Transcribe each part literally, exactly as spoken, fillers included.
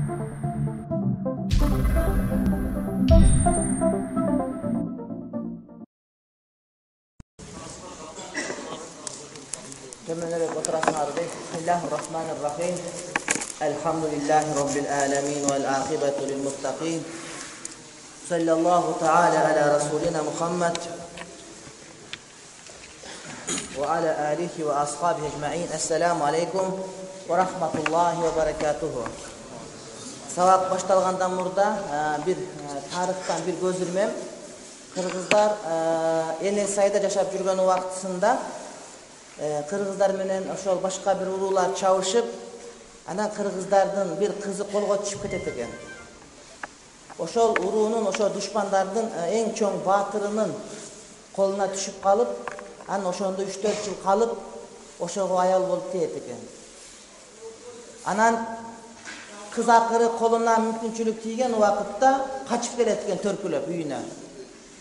Tömenerek oturasınlar bey. Bismillahirrahmanirrahim. Elhamdülillahi Rabbil alemin vel akibetu lil muttaqin. Sallallahu teala ala Resulina Muhammed ve ala alihi ve ashabihi ecma'in. Esselamu aleyküm ve rahmetullahi ve berekatuhu. Sabak baştalgandan murda bir tarihtan bir gözürmem. Kırgızlar ene sayda yaşap жүргөн убактысында Kırgızlar menen ошол башка bir уруулар чабышып, анан кыргыздардын bir кызы колго түшүп кетет экен. Ошол уруунун, ошол душмандардын эң чоң баатырынын колуна түшүп калып, анан ошондо үч төрт жыл калып, ошого аял болуп тиет экен. Анан кыз акыры колуна мүмкүнчүлүк тийген убакытта качып келет экен төркүлөп үйүнө.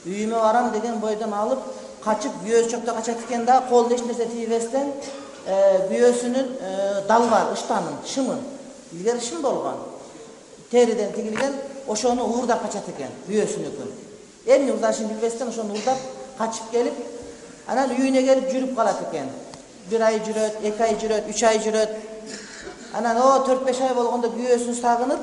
Үйүмө барам деген бойдон алып kaçıp büyösü çok da kaçat iken daha kolda hiç nerse tiyivesden e, büyösünün e, dal var, ıştanın, şımın. İlgari şım bolgan. Teriden tigilgen, oşonu uğurda kaçat iken, büyösünü gün. Emni uzaşın bilbesden oşonu uğurda kaçıp gelip, anan üyüne gelip jürüp kalat iken. Bir ay jüröt, iki ay jüröt, üç ay jüröt. Anan o dört beş ay bolganda büyösünü sağınıp,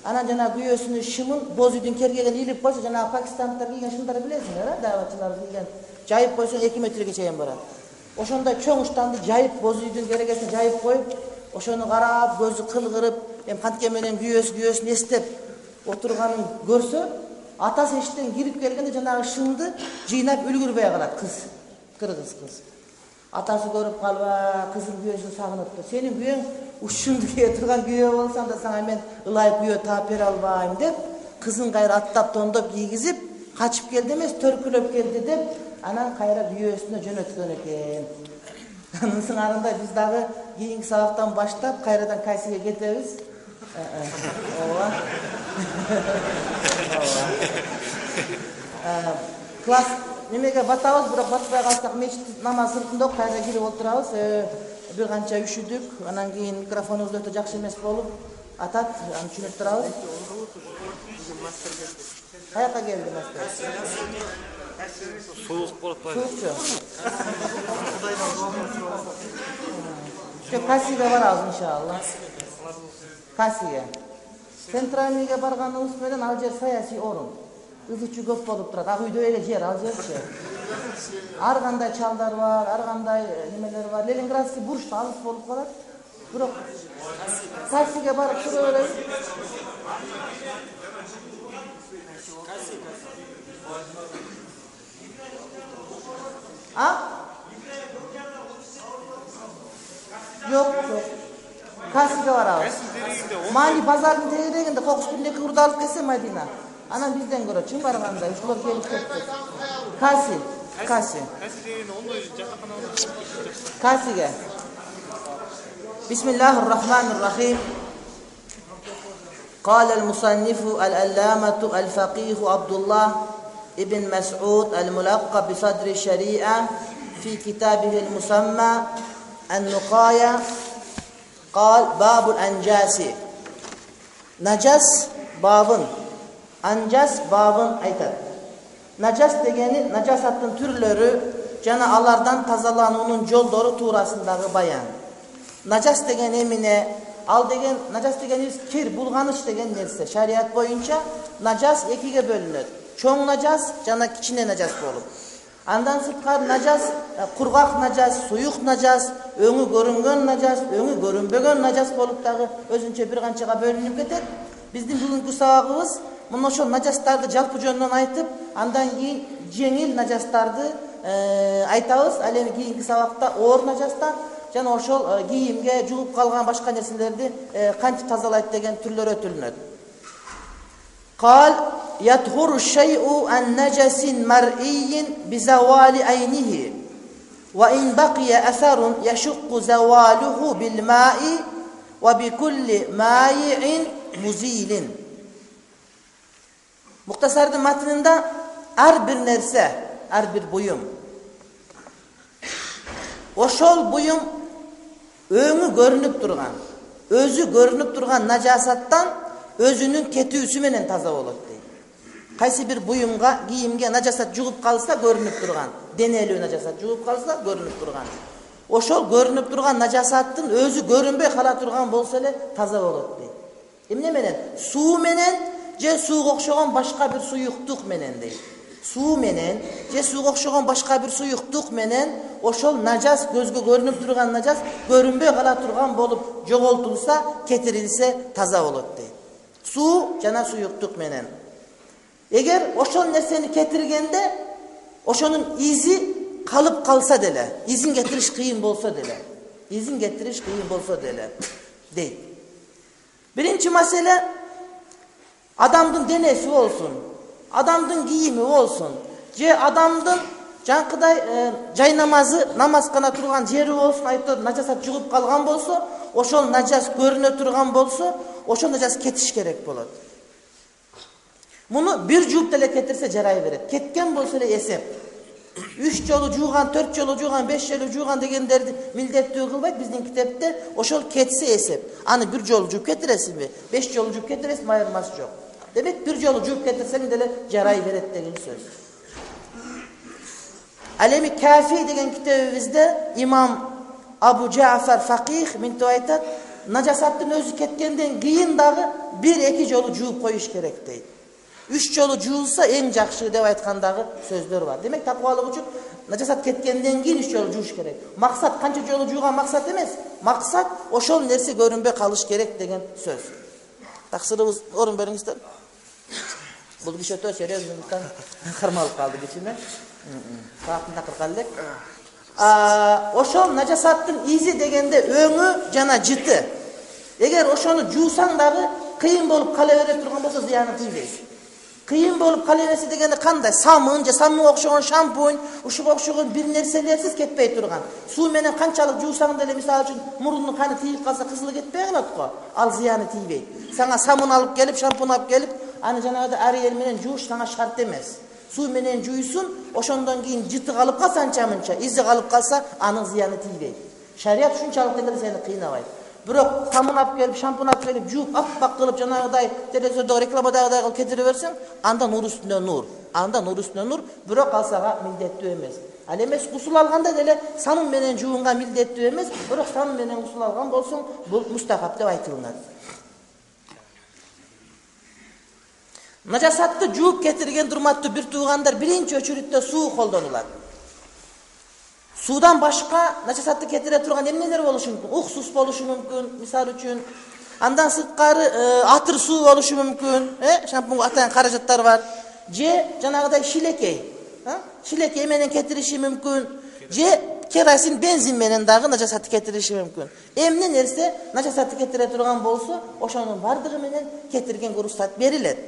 anan jana büyösünü şımın, boz üydün kergegen ilip koysa, jana Pakistanlıklar giygen şımdары bilesiniz, ha? Davatçılar giygen. Jayıp koysun iki metrege çeyen barat. Oşonda çoğ uçtandı jayıp boz üydün keregesine jayıp koyup, oşonu karab, gözü kılgırıp, hem kantke menen güyös güyösün estep oturganın görse, atası eşitten girip gelgende jana şımdı jıynap ülgürbey kalat kız, kırgız kız. Atası görüp kalba, kızın güyösünü sağınıptı. Senin güyön uşundu diye turgan güyö olsan da sana men ılayıp güyö taap bere albayım dep, kızın gayrı attap tondop giygizip, kaçıp geldi emez, törkülöp geldi dep, anan kayra büyösüne jönötkөн eken. Anın sыңарында biz dagы kийинки sabaktan başlap kayradan kaysiga ketebiz. Ооба. Ооба. Класс немеге батабыз, бирок батпай калсак мечит намаз сыртында кайра кирип отурабыз. Bir канча үшүдүк, анан кийин микрофонубуз өтө жакшы эмес болуп атат, аны түшүнүп турабыз. Каяка келди мастер? Soğuk bolup baydı. Soğukçu. İşte Kasi'ye varabız inşallah. Kasi'ye. Sentralniga barganыбыз менен ал жер саясий орун. Ызычы көп болуп турат. Ак үйдө эле жер ал жерчи. Ар кандай чалдар бар, ар кандай немелер бар. Ленинградский бурчта алыс болуп калат. Бирок Касиге барып тура беребиз. Ha? Yok yok. Kasi'de var abi. Mali pazarın teğireginde kokuş bindeki hurda alıp kese Madina. Anam bizden göre çın barganda. Uşular gelip kettik. Kasi. Kasi. Kasi'ge. Bismillahirrahmanirrahim. قال المصنف العلامة الفقيه عبد الله ابن مسعود الملقب بصدر الشريعة في كتابه المسمى النقاية قال باب الأنجاس نجس باب أنجاس باب aytат. Najas degeni najasаттын түрлөрү жана алардан тазалануунун жолдору туурасындагы баян. Najas деген эмне? Ал деген najас дегенибиз кир, булганыч деген нерсе. Шарият боюнча najас экиге бөлүнөт. Чоң najас жана кичине najас болуп. Андан сырткары najас, кургак najас, суюк najас, өңү көрүнгөн najас, өңү көрүнбөгөн najас болуп дагы өзүнчө бир канчага бөлүнүп кетет. Биздин бүгүнкү сабагыбыз мына ошол najастарды жалпы жөнүнөн айтып, андан кийин жеңил najастарды айтабыз. Ал эми кийинки сабакта оор najастар жана ошол кийимге жугуп калган башка нерселерди кантип тазалайт деген түрлөр өтүлүнөт. قال يطهر الشيء عن نجس مرئي بزوال عينه وإن بقي أثر يشق زواله بالماء وبكل مائع مزيل. Muhtasardın matnında her bir nerse, her bir buyum. Oşol buyum öňü görünüp durgan, özü görünüp durgan najasattan өзүнүн кетүүсү менен таза болот дейт. Кайсы бир буюмга, кийимге нажасат жугуп калса көрүнүп турган, денелүү нажасат жугуп калса көрүнүп турган. Ошол көрүнүп турган нажасаттын өзү көрүнбөй кала турган болсо эле таза болот дейт. Эмне менен? Суу менен же сууга окшогон башка бир суюктук менен дейт. Суу менен же сууга окшогон башка бир суюктук менен ошол нажас, көзгө көрүнүп турган нажас көрүнбөй кала турган болуп жоголтулса, кетирилсе таза болот дейт. Суу жана суюктук менен. Эгер ошол нерсени кетиргенде ошонун изи калып калса деле, изин кетириш кыйын болсо деле, изин кетириш кыйын болсо деле дейт. Биринчи маселе адамдын денеси болсун, адамдын кийими болсун, же адамдын жанкыдай э, жай намазы, намаз кана турган жери болсун, айтып нажасат жугуп калган болсо, ошол нажас көрүнө турган болсо, ошол нажас кетиш керек болот. Муну бир жууп деле кетирсе жарай берет. Кеткен болсо эле эсеп. Үч жолу жууган, төрт жолу жууган, беш жолу жууган дегендерди милдеттүү кылбайт биздин китепте. Ошол кетсе эсеп. Аны бир жолу жууп кетиресизби? беш жолу жууп кетиресизби? Айырмасы жок. Демек бир жолу жууп кетирсең деле жарай берет деген сөз. Ал эми Кафи деген китебибизде имам Абу Джафар Факих мынтип айтат, нажасаттын өзү кеткенден кийин дагы бир-эки жолу жууп коюш керек дейт. Үч жолу жуулса эң жакшы деп айткандагы сөздөр бар. Демек такыбалык үчүн нажасат кеткенден кийин үч жолу жууш керек. Максат канча жолу жууган максат эмес. Максат ошол нерсе көрүнбөй калыш керек деген сөз. Таксырыбыз орун бериңиздер. Бул киши өтө серьезныйдыктан кармалып калды кичине. Саатын такырган элек. Ошол нажасаттын изи дегенде өңү жана жыты. Эгер ошону жуусаң дагы кыйын болуп кала бере турган болсо зыяны тийбейт. Кыйын болуп кала берсе дегенде кандай? Самын же самынга окшогон шампунь, ушуга окшогон бир нерселерсиз кетпей турган. Суу менен канчалык жуусаң деле мисалы үчүн мурунун каны тийип калса кызылы кетпей калат го. Ал зыяны тийбейт. Сага самын алып келип, шампунь алып келип, аны жанагыда Ариэль менен жууш сага шарт эмес. Суу менен жуйсун, ошондон кийин жыты калып калса анча-мынча, изи калып калса, анын зыяны тийбейт. Шарият ушунчалык деле сени кыйнабайт. Бирок самын алып келип, шампунь алып келип, жууп, аппак кылып жанагыдай телевизордогу рекламадагыдай кылып кетире берсең, анда нур үстүнө нур. Анда нур үстүнө нур, бирок ал сага милдеттүү эмес. Ал эмес гусул алганда деле самын менен жуунга милдеттүү эмес, бирок самын менен гусул алган болсоң, бул мустахаб деп айтылат. Нажасатты жууп кетирген урматтуу бир туугандар биринчи өчүрүттө суу колдонулат. Суудан башка нажасатты кетире турган эмнелер болушу мүмкүн? Уксус болушу мүмкүн, мисалы үчүн. Андан сырткары атыр суу болушу мүмкүн, э, шампунга атайын каражаттар бар. Же жанагыдай шилекей, э? Шилекей менен кетириши мүмкүн. Же керосин, бензин менен дагы нажасатты кетириши мүмкүн. Эмне нерсе нажасатты кетире турган болсо, ошонун бардыгы менен кетирген уруксат берилет.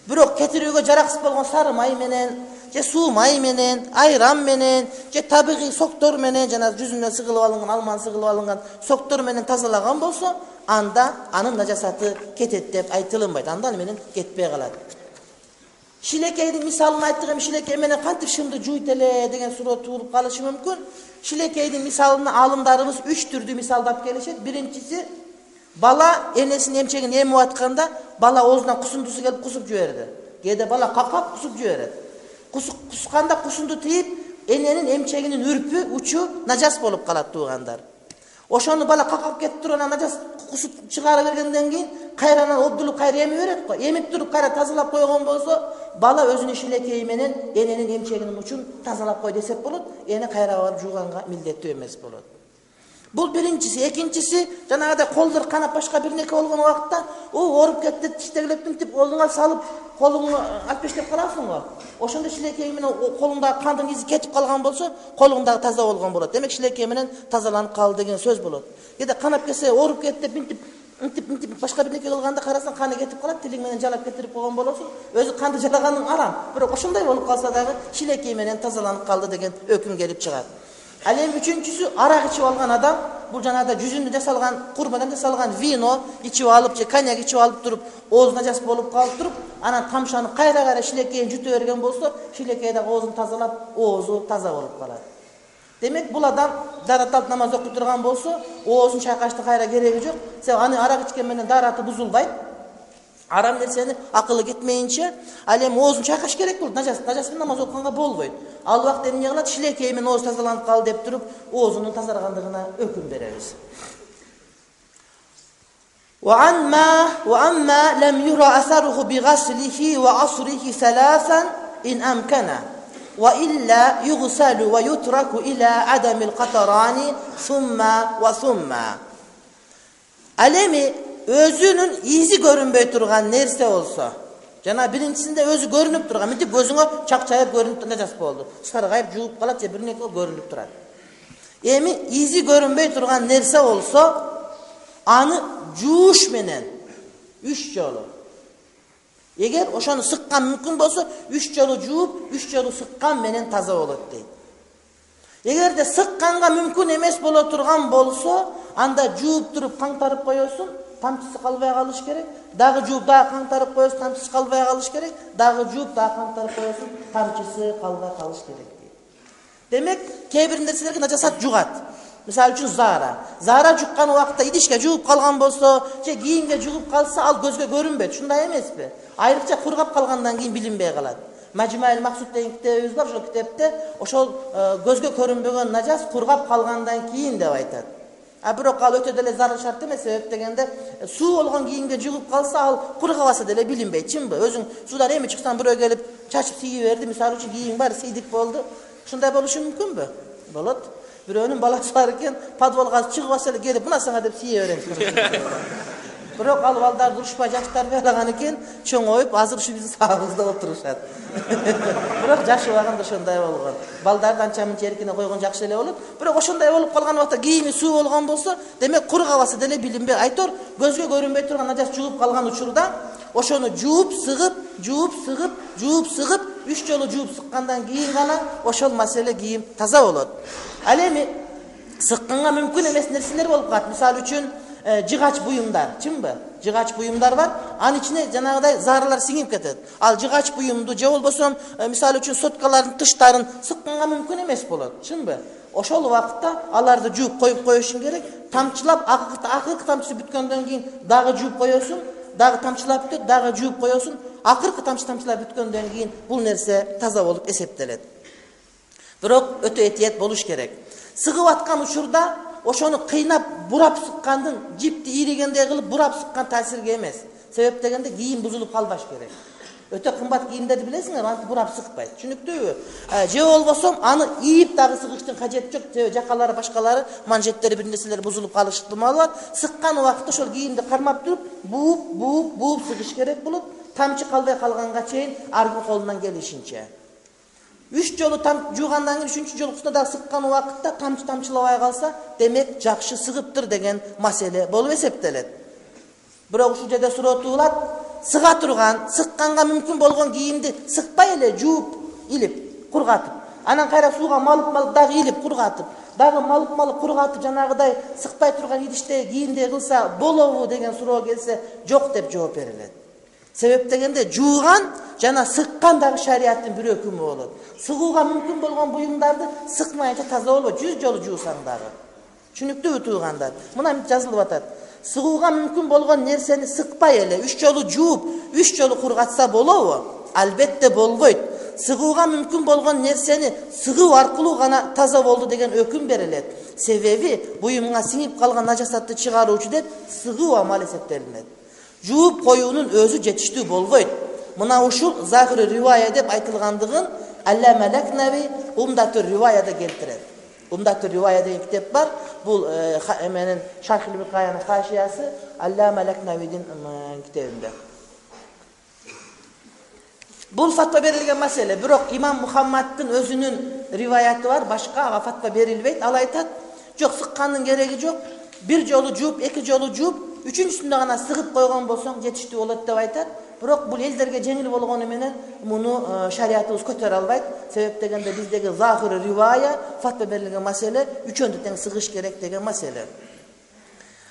Бирок кетирүүгө жараксыз болгон сары май менен, же суу май менен, айран менен, же табигый соктор менен, жана жүзүнө сыгылып алынган, алманы сыгылып алынган соктор менен тазалаган болсо, анда анын нажасаты кетет деп айтылынбайт. Анда ал менен кетпей калат. Шилекейдин мисалын айттык, эми шилекей менен кантип шымды жуйт эле деген суроо туулуп калышы мүмкүн. Шилекейдин мисалын алымдарыбыз үч түрдүү мисалдап келишет. Биринчиси, бала энесинин эмчегин эмип атканда, бала оозунан кусундусу келип кусуп жиберди. Кээде бала какап кусуп жиберет. Кусканда кусунду тийип, эненин эмчегинин үрпү, учу нажас болуп калат туугандар. Ошону бала какап кетип турган нажас кусуп чыгара бергенден кийин кайрадан обдулуп кайра эми берет го. Эмип туруп кайра тазалап койгон болсо, бала өзүнүн шилекейи менен эненин эмчегинин учун тазалап кой десек болот. Эне кайра барып жууганга милдеттүү эмес болот. Бул биринчиси. Экинчиси, жанагыдай колдор канап башка бир нерсе болгон убакта, о, оруп кетти, тиштегилеп мынтип колуңа салып, колуңду алпештеп каласың го. Ошондо шилекей менен колуңдагы кандын изи кетип калган болсо, колуң дагы таза болгон болот. Демек шилекей менен тазаланып калды деген сөз болот. Кээде канап кетсе, оруп кетти деп мынтип мынтип мынтип башка бир нерсе кылганда карасаң каны кетип калат, тилиң менен жалап кетирип койгон болосуң. Өзү канды жалаганың арам. Бирок ошондой болуп калса дагы шилекей менен тазаланып калды деген өкүм келип чыгат. Ал эми үчүнчүсү, арак ичип алган адам, бул жанагыда жүзүндө жасалган, курбадан жасалган вино ичип алып же коньяк ичип алып туруп, ооз нажас болуп калып туруп, анан тамшанып кайра-кайра шилекейин жута берген болсо, шилекей дагы оозун тазалап, оозу таза болуп калат. Демек бул адам дарат намаз окуй турган болсо, оозун чайкашты кайра кереги жок. Себеби аны арак ичкен менен дараты бузулбайт. Арам нерсени акылы кетмейинче ал эми оозун чайкаш керек болот. Нажас, нажас менен намаз окуганга болбойт. Ал убакта эмне кылат? Шилекей менен ооз тазаланып кал деп туруп, оозунун тазаргандыгына өкүм беребиз. وأما وأما لم يرى أثره بغسله وعصره ثلاثا إن أمكن وإلا يغسل ويترك إلى عدم القطران ثم وثم. Alemi özünün izi görünbөй турган нерсе болсо, жана биринчисинде өзү көрүнүп турган, мынтип көзүңө чакчайып көрүнүп нажас болду. Саргайып жууп калат же бир нерсе көрүнүп турат. Эми изи көрүнбөй турган нерсе болсо, аны жууш менен үч жолу. Эгер ошону сыккан мүмкүн болсо, үч жолу жууп, үч жолу сыккан менен таза болот дейт. Эгерде сыкканга мүмкүн эмес боло турган болсо, анда жууп туруп каңтарып коесуң, тамчысы калбай калыш керек. Дагы жууп, дагы каңтарып коесуң, тамчысы калбай калыш керек. Дагы жууп, дагы каңтарып коесуң, тамчысы калбай калыш керек дейт. Демек, кээ бир нерселерге нажасат жугат. Мисалы үчүн зара. Зара жуккан убакта идишке жууп калган болсо, же кийимге жугуп калса, ал көзгө көрүнбөйт. Ушундай эмеспи? Айрыкча кургап калгандан кийин билинбей калат. Majmu'ul Maqsud деген китебибиз бар, ошол китепте ошол көзгө көрүнбөгөн нажас кургап калгандан кийин деп айтат. А бирок ал өтө деле зарыл шарт эмес, себеп дегенде суу болгон кийимге жугуп калса, ал кургабаса деле билинбейт, чынбы? Өзүң суудан эми чыксаң, бирөө келип чачып сийип берди, мисалы үчүн кийим бар, сийдик болду. Ушундай болушу мүмкүнбү? Болот. Бирөөнүн баласы бар экен, подвалга чыгып эле келип, мына сага деп сийе берет. Бирок ал балдар урушпай жаштар байлаган экен, чоңоюп, азыр ушу биздин сабыбызда отурушат. Бирок жаш убагында ошондой болгон. Балдарды анча-мынча эркине койгон жакшы эле болот. Бирок ошондой болуп калган убакта кийими суу болгон болсо, демек кургабасы деле билинбей, айтор көзгө көрүнбөй турган нажас жугуп калган учурда, ошону жууп, сыгып, жууп, сыгып, жууп, сыгып, үч жолу жууп сыккандан кийин гана ошол маселе кийим таза болот. Ал эми сыкканга мүмкүн эмес нерселер болуп калат. Мисалы үчүн жыгач буюмдар, чынбы? Жыгач буюмдар бар, анын ичине жанагыдай зарылар сиңип кетет. Ал жыгач буюмду же болбосо, мисалы үчүн соткалардын тыштарын сыкканга мүмкүн эмес болот, чынбы? Ошол убакытта аларды жууп коюп коюшуң керек. Тамчылап, акыркы тамчысы бүткөндөн кийин дагы жууп коесуң, дагы тамчылап бүтөт, дагы жууп коесуң. Акыркы тамчы тамчылап бүткөндөн кийин бул нерсе таза болуп эсептелет. Бирок өтө этият болуш керек. Сыгып аткан учурда ошону кыйнап бурап сыккандын, жипти ийригендей кылып бурап сыккан таасирге эмес. Себеп дегенде кийим бузулуп калбаш керек. Өтө кымбат кийимдерди билесиңер, антип бурап сыкпайт. Түшүнүктүүбү? Же болбосо аны ийип дагы сыгыштын кажети жок. Себеби жакалары башкалары, манжеттери бир нерселер бузулуп калыш ыктымалы бар. Сыккан убакытта ошол кийимди кармап туруп, бууп, бууп, бууп сыгыш керек болот. Тамчы калбай калганга чейин аркы колунан келишинче. Үч жолу там жуугандан кийин үчүнчү жолкусунда да сыккан убакытта тамчы тамчылабай калса, демек жакшы сыгыптыр деген маселе болуп эсептелет. Бирок ушул жерде суроо туулат, сыга турган, сыкканга мүмкүн болгон кийимди сыкпай эле жууп, илип, кургатып, анан кайра сууга малып-малып дагы илип, кургатып, дагы малып-малып кургатып, жанагыдай сыкпай турган идиште кийимдей кылса болобу деген суроо келсе, жок деп жооп берилет. Себеп дегенде жууган жана сыккан дагы шариаттын бир өкүмү болот. Сыгууга мүмкүн болгон буюмдарды сыкмайынча таза болбойт, жүз жолу жуусаң дагы. Түшүнүктүүбү туугандар? Мына жазылып атат. Сыгууга мүмкүн болгон нерсени сыкпай эле үч жолу жууп, үч жолу кургатса болобу? Албетте болбойт. Сыгууга мүмкүн болгон нерсени сыгуу аркылуу гана таза болду деген өкүм берилет. Себеби буюмга сиңип калган нажасатты чыгаруучу деп сыгуу амал эсептелинет. Жууп коюунун өзү жетиштүү болбойт. Мына ушул Захир ривая деп айтылгандыгын Аллама Лакнави Умдатур риваяда келтирет. Умдатур ривая деген китеп бар. Бул менен Шархил Микаянын хашиясы Аллама Лакнавидин китебинде. Бул фатва берилген маселе. Бирок имам Мухаммаддын өзүнүн риваяты бар, башка фатва берилбейт. Ал айтат, жок, сыккандын кереги жок. Бир жолу жууп, эки жолу жууп, үчүнчүсүндө гана сыгып койгон болсоң жетиштүү болот деп айтат. Бирок бул элдерге жеңил болгону менен муну шариятыбыз көтөрө албайт. Себеп дегенде биздеги Захир ривая фатва берилген маселе үчөндү тең сыгыш керек деген маселе.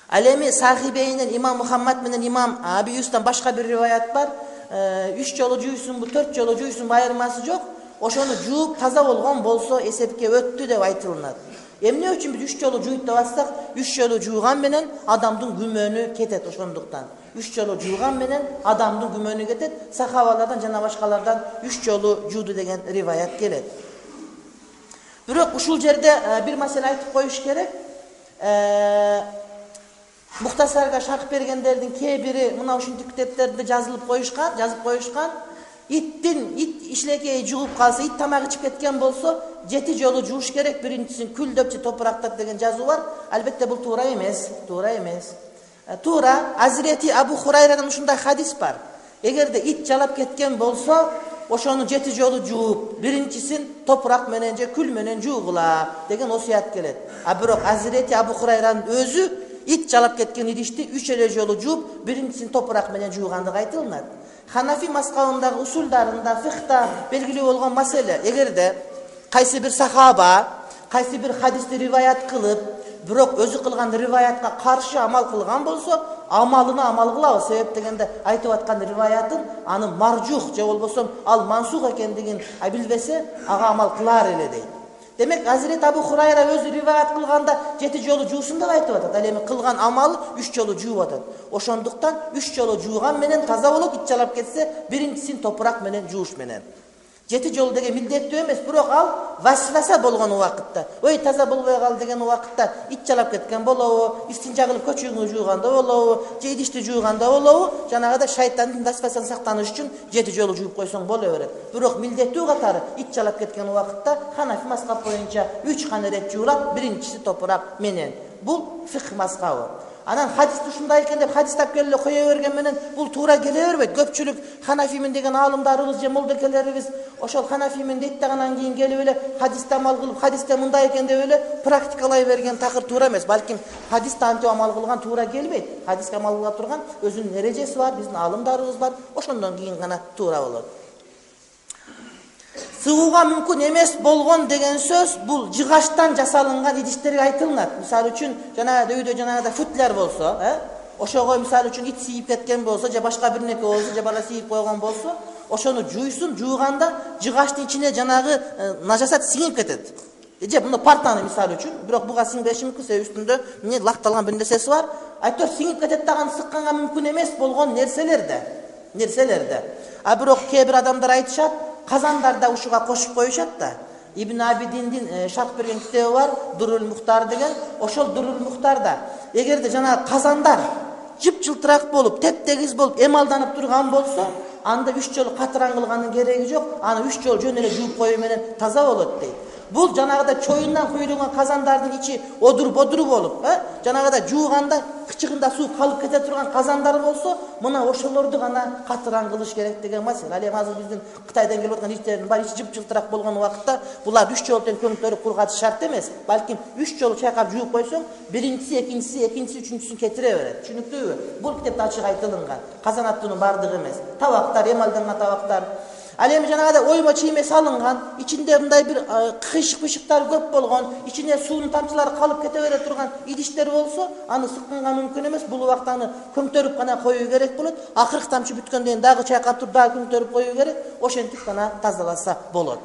Ал эми Сахибейнен имам Мухаммад менен имам Аби Юстан башка бир риваят бар. үч жолу жуйсунбу, төрт жолу жуйсунбу айырмасы жок. Ошону жууп таза болгон болсо эсепке өттү деп айтылат. Эмне үчүн биз үч жолу жууйт деп атсак, үч жолу жууган менен адамдын күмөнү кетет ошондуктан. үч жолу жууган менен адамдын күмөнү кетет. Сахабалардан жана башкалардан үч жолу жууду деген риваят келет. Бирок ушул жерде бир маселе айтып коюш керек. Мухтасарга шарх бергендердин кээ бири мына ушинтип китептерде жазылып коюшкан, жазып коюшкан. Иттин ит ишлекей жугуп калса, ит тамак ичип кеткен болсо, жети жолу жууш керек. Биринчисин күлдөп же топурактап деген жазуу бар. Албетте бул туура эмес, туура эмес. Туура Азирети Абу Хурайрадан ушундай хадис бар. Эгерде ит жалап кеткен болсо, ошону жети жолу жууп, биринчисин топурак менен же күл менен жуугула деген осуят келет. А бирок Азирети Абу Хурайранын өзү ит жалап кеткен идишти үч эле жолу жууп, биринчисин топурак менен жуугандыгы айтылат. Ханафи мазхабындагы усулдарында, фихта белгилүү болгон маселе, эгерде кайсы бир сахаба, кайсы бир хадисти риваят кылып, бирок өзү кылган риваятка каршы амал кылган болсо, амалына амал кылабыз. Себеп дегенде айтып аткан риваятын аны маржух же болбосо ал мансух экендигин билбесе, ага амал кылар эле дейт. Демек, Азирет Абу Хурайра өзү риваят кылганда жети жолу жуусун деп айтып атат. Ал эми кылган амалы үч жолу жууп атат. Ошондуктан үч жолу жууган менен таза болот, ит жалап кетсе, биринчисин топурак менен жууш менен. Жети жолу деген милдеттүү эмес, бирок ал васваса болгон убакытта, ой таза болбой кал деген убакытта ит жалап кеткен болобу, истинжа кылып көчөгүңдү жууганда болобу, же идишти жууганда болобу, жанагыда шайтандын васвасадан сактаныш үчүн жети жолу жууп койсоң боло берет. Бирок милдеттүү катары ит жалап кеткен убакытта Ханафи мазхабы боюнча үч гана рет жуулап, биринчиси топурак менен. Бул фикх мазхабы. Анан хадисти ушундай экен деп хадистап келе кое берген менен бул туура келе бербейт. Көпчүлүк ханафимин деген аалымдарыбыз же молдекелерибиз ошол ханафимин дейт дагынан кийин келип эле хадисте амал кылып, хадисте мындай экен деп эле практикалай берген такыр туура эмес. Балким хадисте антип амал кылган туура келбейт. Хадиске амал кыла турган өзүнүн эрежеси бар, биздин аалымдарыбыз бар. Ошондон кийин гана туура болот. Сыгууга мүмкүн эмес болгон деген сөз бул жыгачтан жасалынган идиштерге айтылат. Мисалы үчүн жанагы үйдө жанагыда футляр болсо, э? Ошого мисалы үчүн ит сийип кеткен болсо, же башка бир нерсе болсо, же бала сийип койгон болсо, ошону жуйсун, жууганда жыгачтын ичине жанагы нажасат сиңип кетет. Же мына партаны мисалы үчүн, бирок буга сиңбеши мүмкүн, себеби үстүндө эмне лакталган бир нерсеси бар. Айтор сиңип кетет даган сыкканга мүмкүн эмес болгон нерселерде, нерселерде. А бирок кээ бир адамдар айтышат, казандарда ушуга кошуп коюшат да. Ибн Абидиндин шарх берген китеби бар, Дурул Мухтар деген. Ошол Дурул Мухтарда эгерде жанагы казандар жып-жылтырак болуп, теп-тегиз болуп, эмалданып турган болсо, анда үч жолу катыран кылгандын кереги жок. Аны үч жолу жөн эле жууп коюу менен таза болот дейт. Бул жанагыда чоюндан куйулган казандардын ичи одур-бодур болуп, э? Жанагыда жууганда кычыгында суу калып кете турган казандар болсо, мына ошолорду гана катыран кылыш керек деген маселе. Ал эми азыр биздин Кытайдан келип аткан иштердин баары ичи жып-жылтырак болгон убакытта булар үч жолу тең көңтөрүп кургатыш шарт эмес. Балким үч жолу чайкап жууп койсоң, биринчиси, экинчиси, экинчиси, үчүнчүсүн кетире берет. Түшүнүктүүбү? Бул китепте ачык айтылган. Казан аттуунун бардыгы эмес. Табактар, эмалданган табактар. Ал эми жанагыда оймо чийме салынган, ичинде мындай бир кыйшык-пышыктар көп болгон, ичине суунун тамчылары калып кете бере турган идиштер болсо, аны сыкканга мүмкүн эмес. Бул убакта аны көңтөрүп гана коюу керек болот. Акыркы тамчы бүткөндөн кийин дагы чайкап туруп, дагы көңтөрүп коюу керек. Ошентип гана тазаласа болот.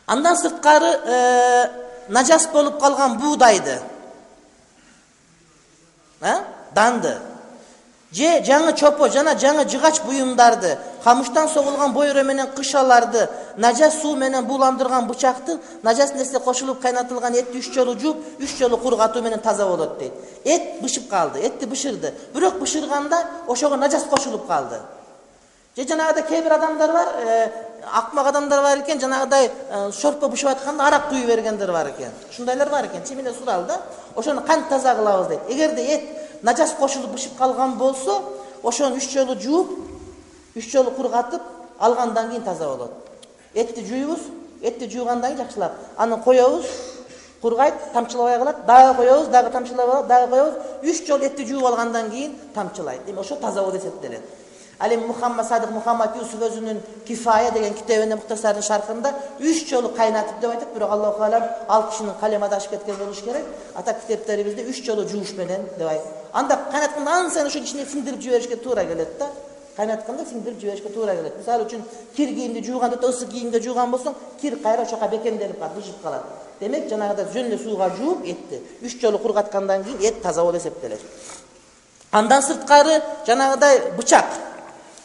Андан сырткары нажас болуп калган буудайды, данды, же жаңы чопо жана жаңы жыгач буюмдарды, камыштан согулган бойро менен кышаларды, нажас суу менен бууландырган бычакты, нажас нерсе кошулуп кайнатылган этти үч жолу жууп, үч жолу кургатуу менен таза болот дейт. Эт бышып калды, этти бышырды. Бирок бышырганда ошого нажас кошулуп калды. Же жанагыда кээ бир адамдар бар, акмак адамдар бар экен, жанагыдай шорпо бышып атканда арак куюп бергендер бар экен. Ушундайлар бар экен. Чимине сурал да. Ошону кантип таза кылабыз дейт. Эгерде эт нажас кошулуп бышып калган болсо, ошону үч жолу жууп, үч жолу кургатып алгандан кийин таза болот. Этти жуйбуз, этти жуугандан кийин жакшылап, аны коебуз, кургайт, тамчылабай калат, дагы коебуз, дагы тамчылабай калат, дагы коебуз, үч жолу этти жууп алгандан кийин тамчылайт. Эми ошо таза болуп эсептелет. Ал эми Мухаммад Садык Мухаммад Юсуф өзүнүн Кифая деген китебинде Мухтасардын шархында үч жолу кайнатып деп айтат, бирок Аллаху алам ал кишинин калем адашып кеткен болуш керек. Ата китептерибизде үч жолу жууш менен деп айтат. Анда кайнатканда ан сайын ошо ичине сиңдирип жиберишке туура келет да. кайнатканда сиңдирип жиберишке туура келет. Мисалы үчүн кир кийимди жууганда да ысык кийимге жууган болсоң, кир кайра ошока бекемделип калат, бышып калат. Демек, жанагыда жөн эле сууга жууп, этти үч жолу кургаткандан кийин эт таза болуп эсептелет. Андан сырткары жанагыдай бычак.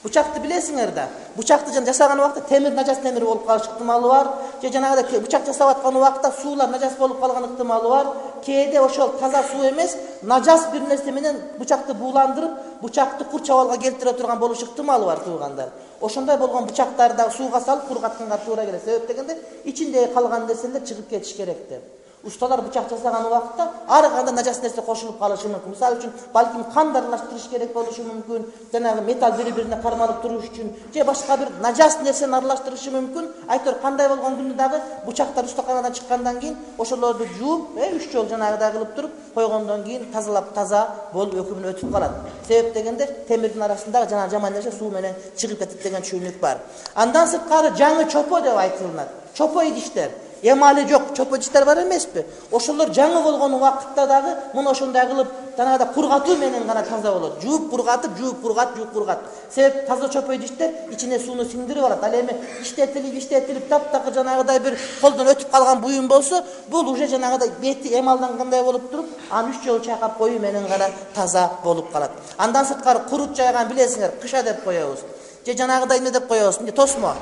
Бычакты билесиңер да. Бычакты жана жасаган убакта темир нажас темир болуп калыш ыктымалы бар. Же жанагыдай бычак жасап аткан убакта суулар нажас болуп калган ыктымалы бар. Кээде ошол таза суу эмес, нажас бир нерсе менен бычакты бууландырып, бычакты курч абалга келтире турган болуш ыктымалы бар туугандар. Ошондой болгон бычактарды да сууга салып кургатканга туура келет. Себеп дегенде ичиндеги калган нерселер чыгып кетиш керек деп. Усталар бычак жасаган убакта ар кандай нажас нерсе кошулуп калышы мүмкүн. Мисалы үчүн, балким кан аралаштырыш керек болушу мүмкүн, жанагы металл бири-бирине кармалып туруш үчүн, же башка бир нажас нерсени аралаштырышы мүмкүн. Айтор кандай болгон күндө дагы бычактар устаканадан чыккандан кийин ошолорду жууп, э үч жол жанагыдай кылып туруп койгондон кийин тазалап таза болуп өкүмүн өтүп калат. Себеп дегенде темирдин арасындагы жана жаман нерсе суу менен чыгып кетет деген түшүнүк бар. Андан сырткары жаңы чопо деп айтылат. Чопо идиштер. Эмали жок, чопо идиштер бар эмеспи? Ошолор жаңы болгон убакытта дагы муну ошондой кылып, жанагыда кургатуу менен гана таза болот. Жууп кургатып, жууп кургат, жууп кургат. Себеп таза чопо идиштер ичине сууну сиңдирип алат. Ал эми иштетилип, иштетилип таптакыр жанагыдай бир колдон өтүп калган буюм болсо, бул уже жанагыдай бети эмалдангандай болуп туруп, аны үч жолу чайкап коюу менен гана таза болуп калат. Андан сырткары курут жайган билесиңер, кыша деп коебуз. Же жанагыдай эмне деп коебуз? Эмне тосмо.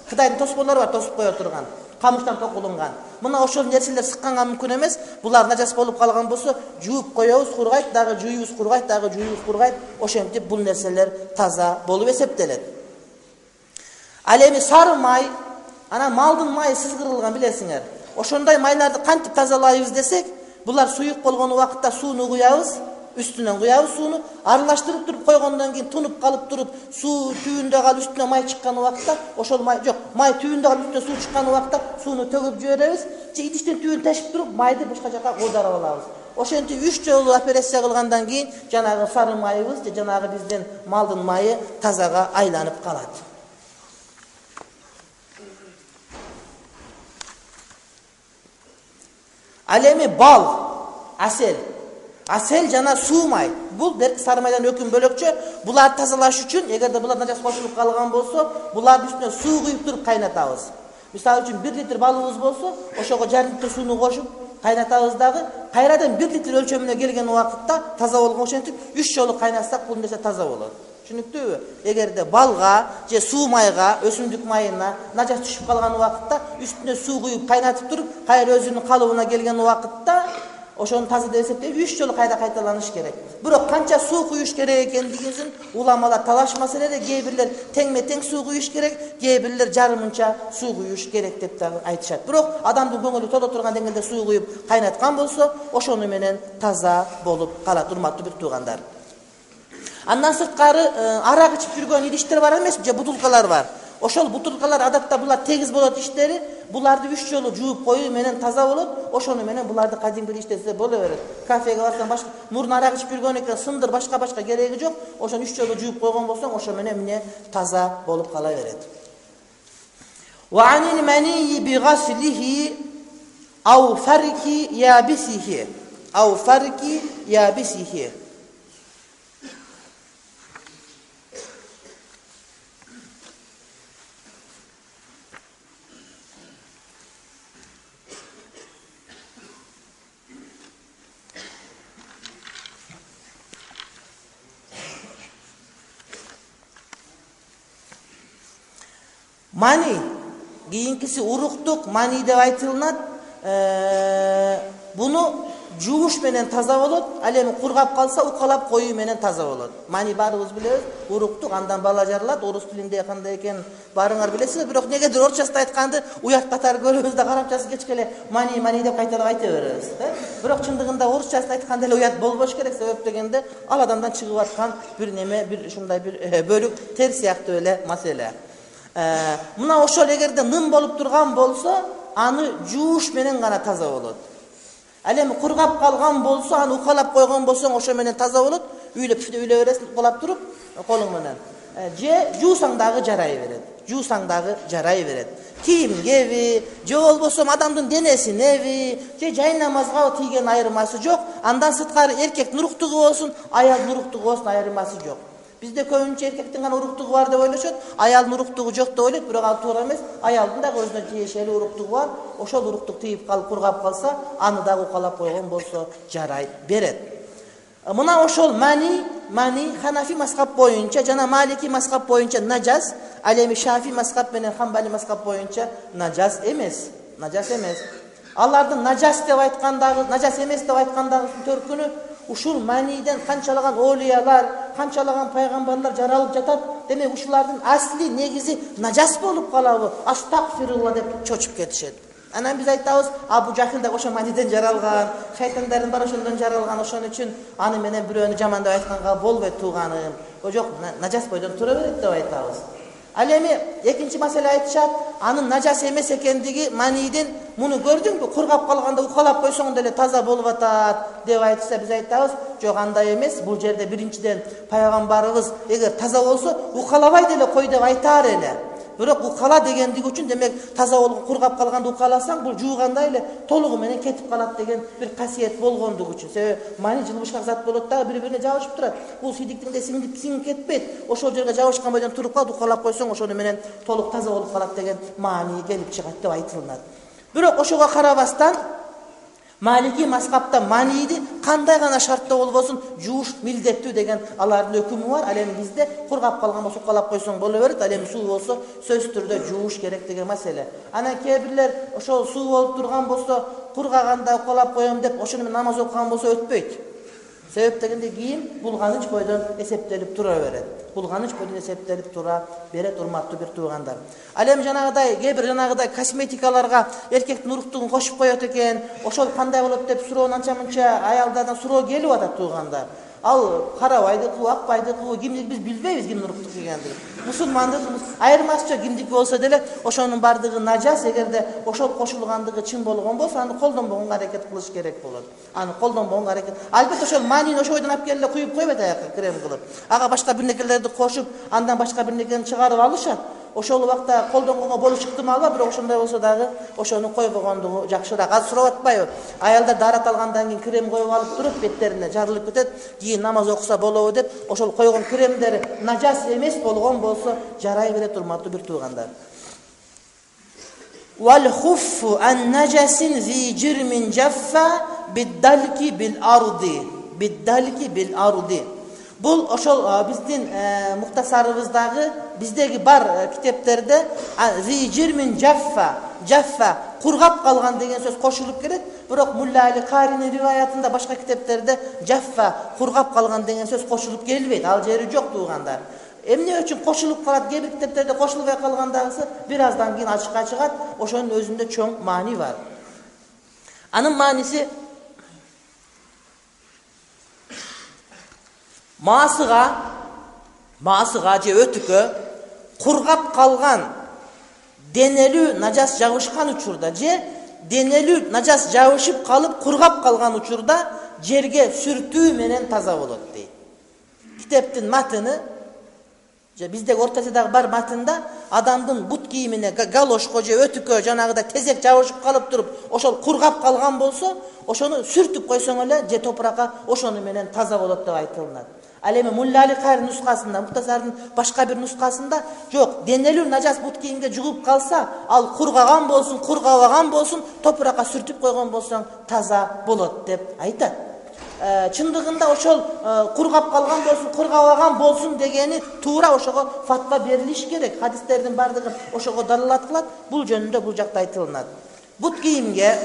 Кытайдын тосмолору бар, тосуп кое турган. Камыштан токулунган. Мына ошол нерселер сыкканга мүмкүн эмес. Булар нажас болуп калган болсо, жууп коебуз, кургайт, дагы жууйбуз, кургайт, дагы жууйбуз, кургайт. Ошентип бул нерселер таза болуп эсептелет. Ал эми сары май, анан малдын майы сызгырылган билесиңер. Ошондой майларды кантип тазалайбыз десек, булар суюк болгон убакытта сууну куябыз, үстүнөн куябыз сууну, аралаштырып туруп койгондон кийин тунуп калып туруп, суу түбүндө калып үстүнө май чыккан убакытта, ошол май жок, май түбүндө калып үстүнө суу чыккан убакытта сууну төгүп жиберебиз, же идиштин түбүн тешип туруп, майды башка жака оодарып алабыз. Ошентип үч жолу операция кылгандан кийин жанагы сары майыбыз же жанагы биздин малдын майы тазага айланып калат. Ал эми бал, асел Асел жана суу май. Бул дерк сары майдан өкүм бөлөкчө. Буларды тазалаш үчүн, эгерде булар нажас кошулуп калган болсо, булардын үстүнө суу куюп туруп кайнатабыз. Мисалы үчүн бир литр балыбыз болсо, ошого жарым литр сууну кошуп кайнатабыз дагы, кайрадан бир литр өлчөмүнө келген убакытта таза болгон ошентип үч жолу кайнатсак бул нерсе таза болот. Түшүнүктүүбү? Эгерде балга же суу майга, өсүмдүк майына нажас түшүп калган убакытта үстүнө суу куюп кайнатып туруп, кайра өзүнүн калыбына келген убакытта ошону таза деп эсептеп үч жолу кайда кайталаныш керек. Бирок канча суу куюш керек экендигин уламалар талаш маселеде, кээ бирлер теңме-тең суу куюш керек, кээ бирлер жарымынча суу куюш керек деп дагы айтышат. Бирок адамдын көңүлү тодо турган деңгээлде суу куюп кайнаткан болсо, ошону менен таза болуп калат, урматтуу бир туугандар. Андан сырткары арак ичип жүргөн идиштер бар эмес, же бутулкалар бар. Ошол бутулкалар адатта булар тегиз болот иштери, буларды үч жолу жууп коюу менен таза болот. Ошону менен буларды кадимки иштесе боло берет. Кафеге барсаң, башка мурун арак ичип жүргөн экен, сындыр башка-башка кереги жок. Ошону үч жолу жууп койгон болсоң, ошо менен эмне таза болуп кала берет. Wa anil mani bi ghaslihi aw farki yabisihi aw farki yabisihi. Mani, kийинкиси уруктук мани деп айтылат. Буну жууш менен таза болот, ал эми кургап калса укалап коюу менен таза болот. Мани баарыбыз билебиз, уруктук, андан бала жаралат. Орус тилинде кандай экен баарыңар билесиңер, бирок негедир орусчасында айтканды уят катары көрөбүз да карапчасы кечке эле мани мани деп кайталап айта беребиз. Бирок чындыгында орусчасында айтканда эле уят болбош керек, себеп дегенде ал адамдан чыгып аткан бир неме, бир ушундай бир бөлүк тер сыяктуу эле маселе. Мына ошол эгерде ным болуп турган болсо, аны жууш менен гана таза болот. Ал эми кургап калган болсо, аны укалап койгон болсоң, ошо менен таза болот. Үйлөп үйлө бересиң, укалап туруп, колуң менен. Же жуусаң дагы жарай берет. Жуусаң дагы жарай берет. Кийимгеби, же болбосо адамдын денесинеби, же жай намазга тийген айырмасы жок. Андан сырткары эркек нуруктугу болсун, аял нуруктугу болсун, айырмасы жок. Бизде көбүнчө эркектин гана уруктугу бар деп ойлошот, аялдын уруктугу жок деп ойлойт, бирок ал туура эмес. Аялдын дагы өзүнө тиешелүү уруктугу бар. Ошол уруктук тийип калып, кургап калса, аны дагы укалап койгон болсо жарай берет. Мына ошол мани, мани Ханафи мазхаб боюнча жана Малики мазхаб боюнча нажас, ал эми Шафи мазхаб менен Хамбали мазхаб боюнча нажас эмес. Нажас эмес. Алардын нажас деп айткандагы, нажас эмес деп айткандагы төркүнү ушул маниден канчалаган олиялар, канчалаган пайгамбарлар жаралып жатат. Демек ушулардын асли негизи нажас болуп калабы? Астагфирулла деп чочуп кетишет. Анан биз айтабыз, Абу Жахил да ошо маниден жаралган, шайтандардын баары ошондон жаралган, ошон үчүн аны менен бирөөнү жамандап айтканга болбойт тууганым. О жок, нажас бойдон тура берет деп айтабыз. Ал эми экинчи маселе айтышат, анын нажас эмес экендиги маниден муну көрдүңбү? Кургап калганда укалап койсоң деле таза болуп атат деп айтса, биз айтабыз, жок андай эмес. Бул жерде биринчиден пайгамбарыбыз эгер таза болсо, укалабай деле кой деп айтаар эле. Бирок укала дегендиги үчүн демек таза болуп кургап калганда укаласаң, бул жуугандай эле толугу менен кетип калат деген бир касиет болгондугу үчүн. Себеби мани жылбышкак зат болот дагы бири-бирине жабышып турат. Бул сидиктиңде сиңип сиңип кетпейт. Ошол жерге жабышкан бойдон туруп калып укалап койсоң, ошону менен толук таза болуп калат деген маани келип чыгат деп айтылат. Бирок ошого карабастан Малики мазхабта маниди кандай гана шартта болбосун жууш милдеттүү деген алардын өкүмү бар. Ал эми бизде кургап калган болсо укалап койсоң боло берет. Ал эми суу болсо сөзсүз түрдө жууш керек деген маселе. Анан кээ бирлер ошол суу болуп турган болсо кургаганда укалап коем деп ошону менен намаз окуган болсо өтпөйт. Себеп дегенде кийин булганыч бойдон эсептелип тура берет. Булганыч бойдон эсептелип тура берет, урматтуу бир туугандар. Ал эми жанагыдай кээ бир жанагыдай косметикаларга эркектин уруктугун кошуп коет экен. Ошол кандай болот деп суроо анча-мынча аялдардан суроо келип атат туугандар. Ал карабайдыкы, акбайдыкы, кимдики биз билбейбиз кимдин уруктук экендигин. Мусулмандын айырмасы жок, кимдики болсо деле ошонун бардыгы нажас. Эгерде ошол кошулгандыгы чын болгон болсо, аны колдонбогонго аракет кылыш керек болот. Аны колдонбогонго аракет. Албетте ошол манини ошол бойдон алып келип куюп койбойт аякка крем кылып. Ага башка бир нерселерди кошуп, андан башка бир нерсени чыгарып алышат. Ошол убакта колдонгонго болуш ыктымал бар, бирок ошондой болсо дагы ошону койбогондугу жакшыраак. Азыр сурап атпайбы? Аялдар дарат алгандан кийин крем коюп алып туруп, беттерине жарылып кетет, кийин намаз окуса болобу деп, ошол койгон кремдери нажас эмес болгон болсо жарай берет, урматтуу бир туугандар. Wal khuffu an najasin zi jirmin jaffa bid-dalki bil-ardi. Bid-dalki bil-ardi. Бул ошол биздин муктасарыбыздагы, биздеги бар китептерде зижирмин жаффа, жаффа кургап калган деген сөз кошулуп келет. Бирок Мулла Али Каринин риваятында башка китептерде жаффа кургап калган деген сөз кошулуп келбейт. Ал жери жок туугандар. Эмне үчүн кошулуп калат? Кээ бир китептерде кошулбай калгандагысы бир аздан кийин ачыкка чыгат. Ошонун өзүндө чоң маани бар. Анын мааниси Маасыга, маасыга же өтүккө кургап калган денелүү нажас жабышкан учурда же денелүү нажас жабышып калып кургап калган учурда жерге сүртүү менен таза болот дейт. Китептин матыны же биздеги ортасындагы бар матында адамдын бут кийимине галошко же өтүккө жанагыда тезек жабышып калып туруп, ошол кургап калган болсо, ошону сүртүп койсоң эле же топуракка ошону менен таза болот деп айтылат. Ал эми Мулла Али Карин нускасында, Муктасардын башка бир нускасында жок, денелүү нажас бут кийимге жугуп калса, ал кургаган болсун, кургабаган болсун, топуракка сүртүп койгон болсоң таза болот деп айтат. Чындыгында ошол кургап калган болсун, кургабаган болсун дегени туура ошого фатва берилиш керек. Хадистердин бардыгы ошого далилат кылат. Бул жөнүндө бул жакта айтылат. Бут кийимге,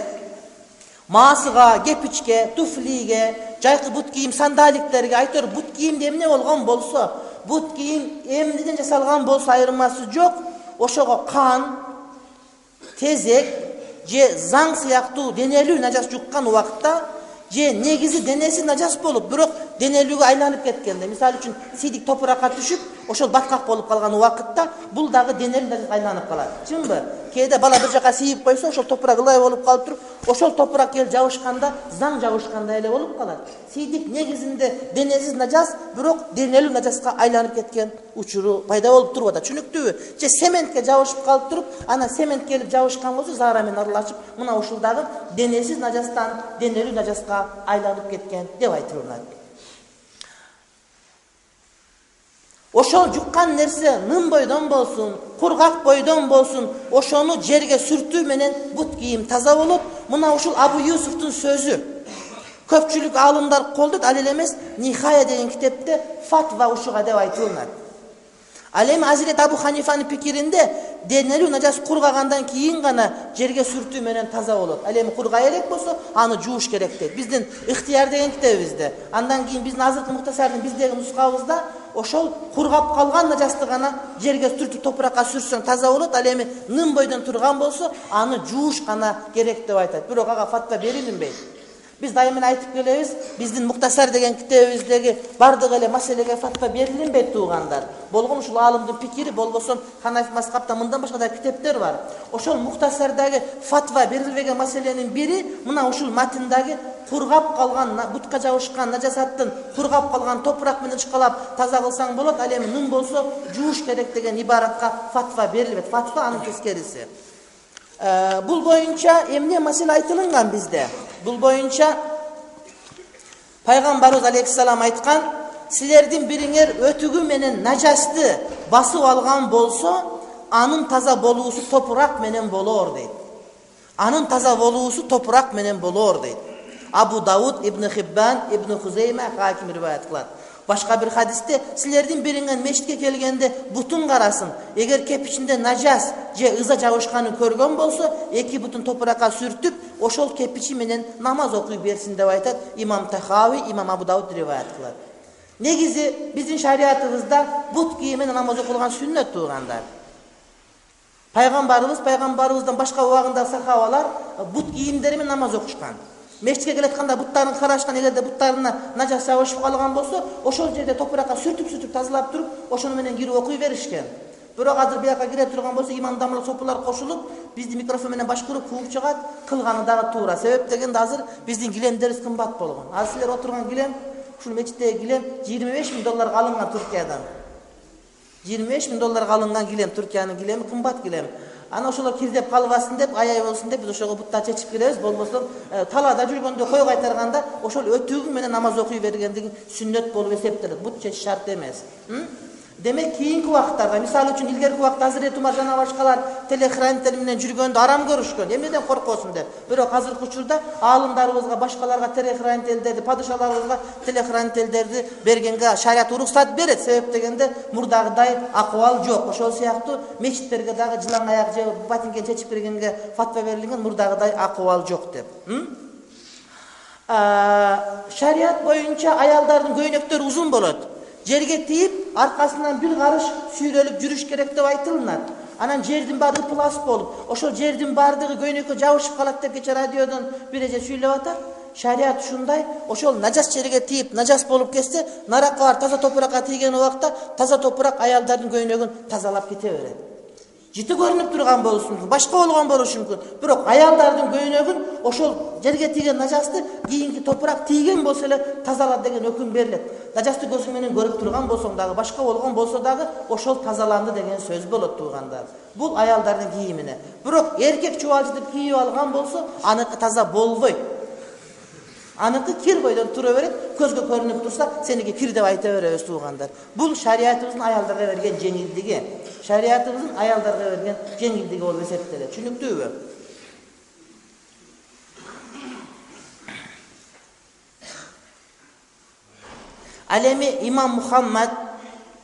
маасыга, кепичке, туфлиге, жайкы бут кийим сандаликтерге айтор, бут кийимде эмне болгон болсо, бут кийим эмнеден жасалган болсо айырмасы жок, ошого кан, тезек же заң сыяктуу денелүү нажас жуккан убакытта же негизи денеси нажас болуп, бирок денелүүгө айланып кеткенде, мисалы үчүн сидик топуракка түшүп, ошол баткак болуп калган убакытта бул дагы денелүү нажас айланып калат. Чынбы? Кээде бала бир жака сийип койсо, ошол топурак ылай болуп калып туруп, ошол топурак келип жабышканда заң жабышкандай эле болуп калат. Сидик негизинде денесиз нажас, бирок денелүү нажаска айланып кеткен учуру пайда болуп туруп атат. Түшүнүктүүбү? Же сементке жабышып калып туруп, анан цемент келип жабышкан болсо, заара менен аралашып, мына ушул дагы денесиз нажастан денелүү нажаска айланып кеткен деп айтылат. ошол жуккан нерсе нын бойдон болсун, кургак бойдон болсун, ошону жерге сүртүү менен бут кийим таза болот. Мына ушул Абу Юсуфтун сөзү. Көпчүлүк алымдар колдойт, ал эле эмес, Нихая деген китепте фатва ушуга деп айтылат. Ал эми Азирет Абу Ханифанын пикиринде денелүү нажас кургагандан кийин гана жерге сүртүү менен таза болот. Ал эми кургай элек болсо, аны жууш керек дейт. Биздин Ихтияр деген китебибизде, андан кийин биздин азыркы Мухтасардын биздеги нускабызда ошол кургап калган нажасты гана жерге сүртүп топуракка сүрсөң таза болот. Ал эми нын бойдон турган болсо, аны жууш гана керек деп айтат. Бирок ага фатва берилинбейт. Biz дайыма айтып келебиз, биздин Мухтасар деген китебибиздеги бардык эле маселеге фатва берилинбейт туугандар. Болгон ушул алымдын пикири, болбосо Ханафи мазхабта мындан башка да китептер бар. Ошол Мухтасардагы фатва берилбеген маселенин бири мына ушул матындагы кургап калган, бутка жабышкан нажасаттын кургап калган топурак менен ышкалап таза кылсаң болот. Ал эми нын болсо жууш керек деген ибаратка фатва берилбейт. Фатва анын тескериси. Бул боюнча эмне маселе айтылган бизде? Бул боюнча Пайгамбарыбыз алейхиссалам айткан, силердин бириңер өтүгү менен нажасты басып алган болсо, анын таза болуусу топурак менен болор дейт. Анын таза болуусу топурак менен болор дейт. Абу Дауд, Ибн Хиббан, Ибн Хузейма, Хаким риваят кылат. Башка бир хадисте силердин бириңер мешитке келгенде бутун карасын. Эгер кепичинде нажас же ыза жабышканын көргөн болсо, эки бутун топуракка сүртүп, ошол кепичи менен намаз окуй берсин деп айтат имам Тахави, имам Абу Дауд риваят кылат. Негизи биздин шариатыбызда бут кийим менен намаз окулган сүннөт туугандар. Пайгамбарыбыз, пайгамбарыбыздан башка убагында сахабалар бут кийимдери менен намаз окушкан. Мешитке келатканда буттарын карашкан, эгерде буттарына нажас жабышып калган болсо, ошол жерде топуракка сүртүп-сүртүп тазалап туруп, ошону менен кирип окуй беришкен. Бирок азыр бияка кире турган болсо, имамдамлык сопулар кошулуп, бизди микрофон менен башкырып кууп чыгат, кылганы дагы туура. Себеп дегенде азыр биздин килемдерибиз кымбат болгон. Азыр силер отурган килем, ушул мечиттеги килем жыйырма беш миң долларга алынган Туркиядан. жыйырма беш миң долларга алынган килем, Туркиянын килеми кымбат килем. Ана ошолор кирдеп калбасын деп, аяй болсун деп биз ошого буттар чечип киребиз. Болбосо талаада жүргөндө кой кайтарганда ошол өтүгү менен намаз окуй бергендиги сүннөт болуп эсептелет. Бут чечиш шарт эмес. Демек кийинки убактарда, мисалы үчүн илгерки убакта Азирет Умар жана башкалар телехранитель менен жүргөндө арам көрүшкөн. Эмнеден коркосун деп. Бирок азыркы учурда аалымдарыбызга, башкаларга телехранительдерди, падышаларыбызга телехранительдерди бергенге шарият уруксат берет. Себеп дегенде мурдагыдай акыбал жок. Ошол сыяктуу мечиттерге дагы жылаң аяк же батинген чечип киргенге фатва берилген, мурдагыдай акыбал жок деп. Шарият боюнча аялдардын көйнөктөрү узун болот. Жерге тийип, аркасынан бир карыш сүйрөлүп жүрүш керек деп айтылынат. Анан жердин баары ыплас болуп, ошол жердин баардыгы көйнөккө жабышып калат деп кече радиодон бир эже сүйлөп атат. Шарият ушундай, ошол нажас жерге тийип, нажас болуп кетсе, наракка бар таза топуракка тийген убакта таза топурак аялдардын көйнөгүн тазалап кете берет. Жити көрүнүп турган болушу мүмкүн, башка болгон болушу мүмкүн. Бирок аялдардын көйнөгүн ошол жерге тийген нажасты кийинки топурак тийген болсо эле тазалат деген өкүм берилет. Нажасты көзүң менен көрүп турган болсоң дагы, башка болгон болсо дагы ошол тазаланды деген сөз болот туугандар. Бул аялдардын кийимине. Бирок эркек чубалчытып кийип алган болсо, аныкы таза болбойт. Аныкы кир бойдон тура берет, көзгө көрүнүп турса, сеники кир деп айта беребиз туугандар. Бул шариятыбыздын аялдарга берген жеңилдиги. Шариятыбыздын аялдарга берген жеңилдиги болуп эсептелет. Түшүнүктүүбү? Ал эми имам Мухаммад,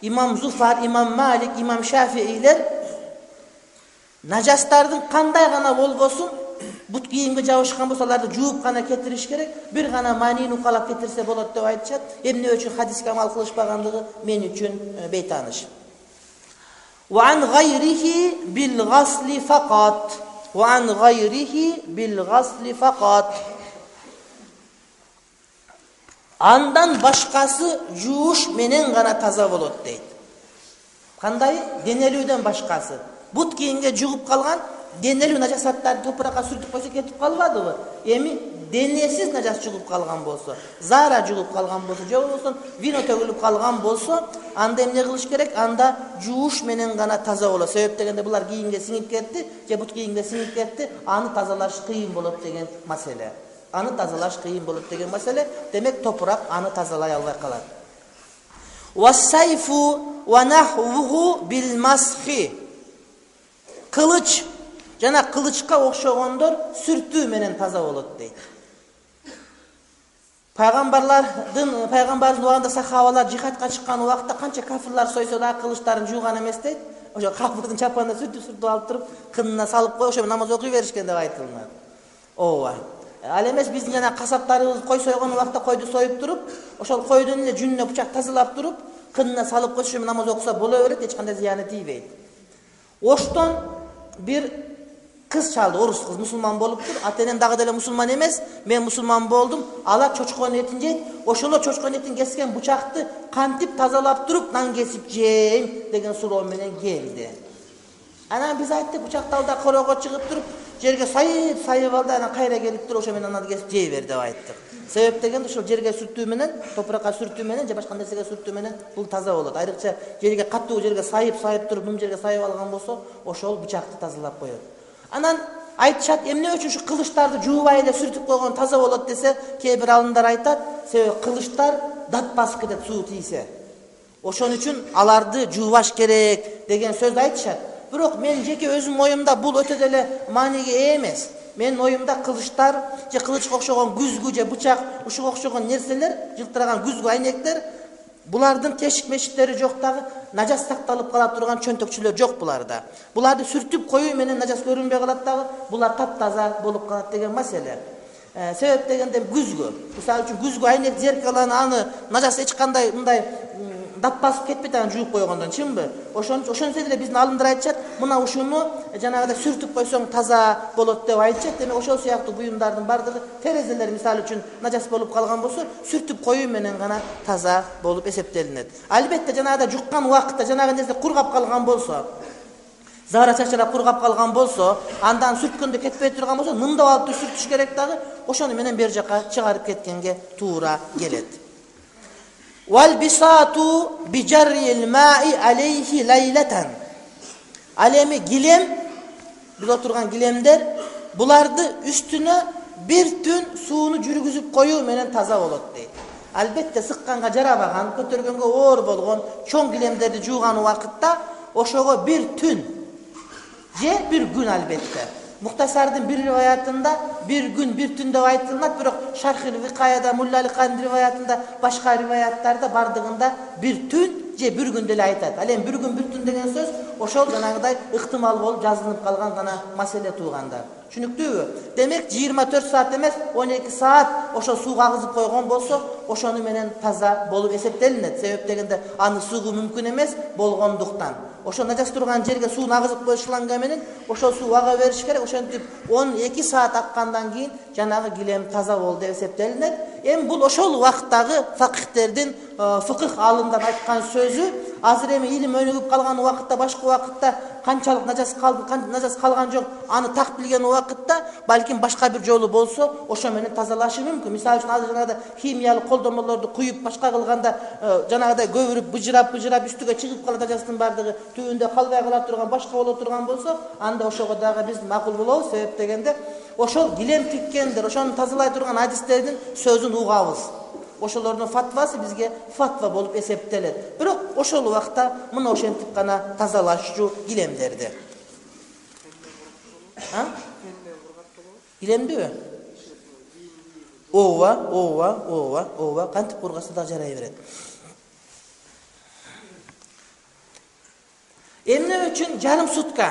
имам Зуфар, имам Малик, имам Шафиилер нажастардын кандай гана болбосун, бут кийимге жабышкан болсо аларды жууп гана кетириш керек, бир гана манин укалап кетирсе болот деп айтышат. Эмне үчүн хадиске амал кылышпагандыгы мен үчүн бейтаныш. Wa an ghayrihi bil ghasli faqat. Wa an ghayrihi bil ghasli faqat. Андан башкасы жууш менен гана таза болот дейт. Кандай? Денелүүдөн башкасы. Бут кийимге жугуп калган денелүү нажасаттарды топуракка сүртүп койсо кетип калбадыбы? Эми денесиз нажас жугуп калган болсо, зара жугуп калган болсо, же болбосо вино төгүлүп калган болсо, анда эмне кылыш керек? Анда жууш менен гана таза болот. Себеп дегенде булар кийимге сиңип кетти, же бут кийимге сиңип кетти, аны тазалаш кыйын болот деген маселе. Аны тазалаш кыйын болот деген маселе. Демек топурак аны тазалай албай калат. Вассайфу wa nahwuhu bil mashi. Kılıç жана кылычка окшогондор сүртүү менен таза болот дейт. Пайгамбарлардын пайгамбардын убагында сахабалар жихадка чыккан убакта канча кафирлар сойсо да кылычтарын жууган эмес дейт. Ошо кафирдин чапанына сүртүп-сүртүп алып туруп, кынына салып коюп, ошо намаз окуй беришкен деп айтылат. Ооба. Ал эмес биздин жана касаптарыбыз кой сойгон убакта койду союп туруп, ошол койдун эле жүнүнө бычак тазалап туруп, кынына салып койсо намаз окуса боло берет, эч кандай зыяны тийбейт. Оштон бир кыз чалды, орус кыз, мусулман болуптур. Ата-энем дагы деле мусулман эмес, мен мусулман болдум. Алар чочкон этин жейт. Ошоло чочкон этин кескен бычакты кантип тазалап туруп, нан кесип жейм деген суроо менен келди. Анан биз айттык, бычакты ал да корого чыгып туруп, жерге сайып, сайып алды, анан кайра келип туруп, ошо менен нан кесип жей бер деп айттык. Себеп дегенде ошол жерге сүртүү менен, топуракка сүртүү менен же башка нерсеге сүртүү менен бул таза болот. Айрыкча жерге каттуу жерге сайып, сайып туруп, бум жерге сайып алган болсо, ошол бычакты тазалап коет. Анан айтышат, эмне үчүн ушу кылычтарды жуубай эле сүртүп койгон таза болот десе, кээ бир алымдар айтат, себеби кылычтар дат басып кетет суу тийсе. Ошон үчүн аларды жуубаш керек деген сөздү айтышат. Бирок мен жеке өзүм оюмда бул өтө деле мааниге ээ эмес. Менин оюмда кылычтар же кылычка окшогон күзгү же бычак, ушуга окшогон нерселер, жылтыраган күзгү айнектер, булардын тешик-мешиктери жок дагы, нажас сакталып кала турган чөнтөкчүлөр жок буларда. Буларды сүртүп коюу менен нажас көрүнбөй калат дагы, булар таптаза болуп калат деген маселе. Себеп дегенде күзгү. Мисалы үчүн күзгү айнек зеркаланы аны нажас эч кандай мындай дат басып кетпейт аны жууп койгондон, чынбы? Ошон ошончо деле биздин алымдар айтышат, мына ушуну жанагыдай сүртүп койсоң таза болот деп айтышат. Демек ошол сыяктуу буюмдардын бардыгы, терезелер мисалы үчүн нажас болуп калган болсо, сүртүп коюу менен гана таза болуп эсептелинет. Албетте жанагыдай жуккан убакытта жанагы нерсе кургап калган болсо, зара чачырап кургап калган болсо, андан сүрткөндө кетпей турган болсо, мындап алып сүртүш керек дагы, ошону менен бер жака чыгарып кеткенге туура келет. Wal bisatu bi jarril ma'i alayhi laylatan. Alemi gilem, biz oturgan gilemler, bulardı üstüne bir tün suunu жүргүзүп koyuu menen taza bolot deyt. Albette sıkkanga jarabagan, көтөргөнгө оор болгон чоң gilemlerdi жууган убакытта ошого bir tün же bir gün albette. Muhtasardın bir rivayatında bir gün bir tün деп айтылат, бирок Шархил Викаяда, Мулла Аликанын риваятында, башка риваяттарда бардыгында bir tün же bir gün деле айтат. Ал эми bir gün bir tün деген сөз ошол жанагыдай ыктымал болуп жазылып калган гана маселе тууганда. Түшүнүктүүбү? Демек жыйырма төрт саат эмес, он эки саат ошо суу кагызып койгон болсо, ошону менен таза болуп эсептелинет. Себеп дегенде аны суугуу мүмкүн эмес болгондуктан. Ошо нажас турган жерге суу агызып коюш шланга менен ошол суу ага бериш керек. Ошентип он эки саат аккандан кийин жанагы гилем таза болду деп эсептелинет. Эми бул ошол убакыттагы факихтердин, фыкых алымдан айткан сөзү. Азыр эми илим өнүгүп калган убакытта, башка убакытта канчалык нажас калды, канча нажас калган жок, аны так билген убакытта балким башка бир жолу болсо, ошо менен тазалашы мүмкүн. Мисалы үчүн азыр жанагыдай химиялык колдомолорду куюп башка кылганда жанагыдай көбүрүп быжырап-быжырап үстүгө чыгып калат нажастын бардыгы, түбүндө калбай кала турган, башка боло турган болсо, анда ошого дагы биз макул болобуз. Себеп дегенде ошол гилем тиккендер, ошону тазалай турган адистердин сөзүн угабыз. Ошолордун фатвасы бизге фатва болуп эсептелет. Бирок ошол убакта мына ошентип гана тазалашчу гилемдерди. А? Гилемдиби? Ооба, ооба, ооба, ооба, кантип кургаса да жарай берет. Эмне үчүн жарым сутка,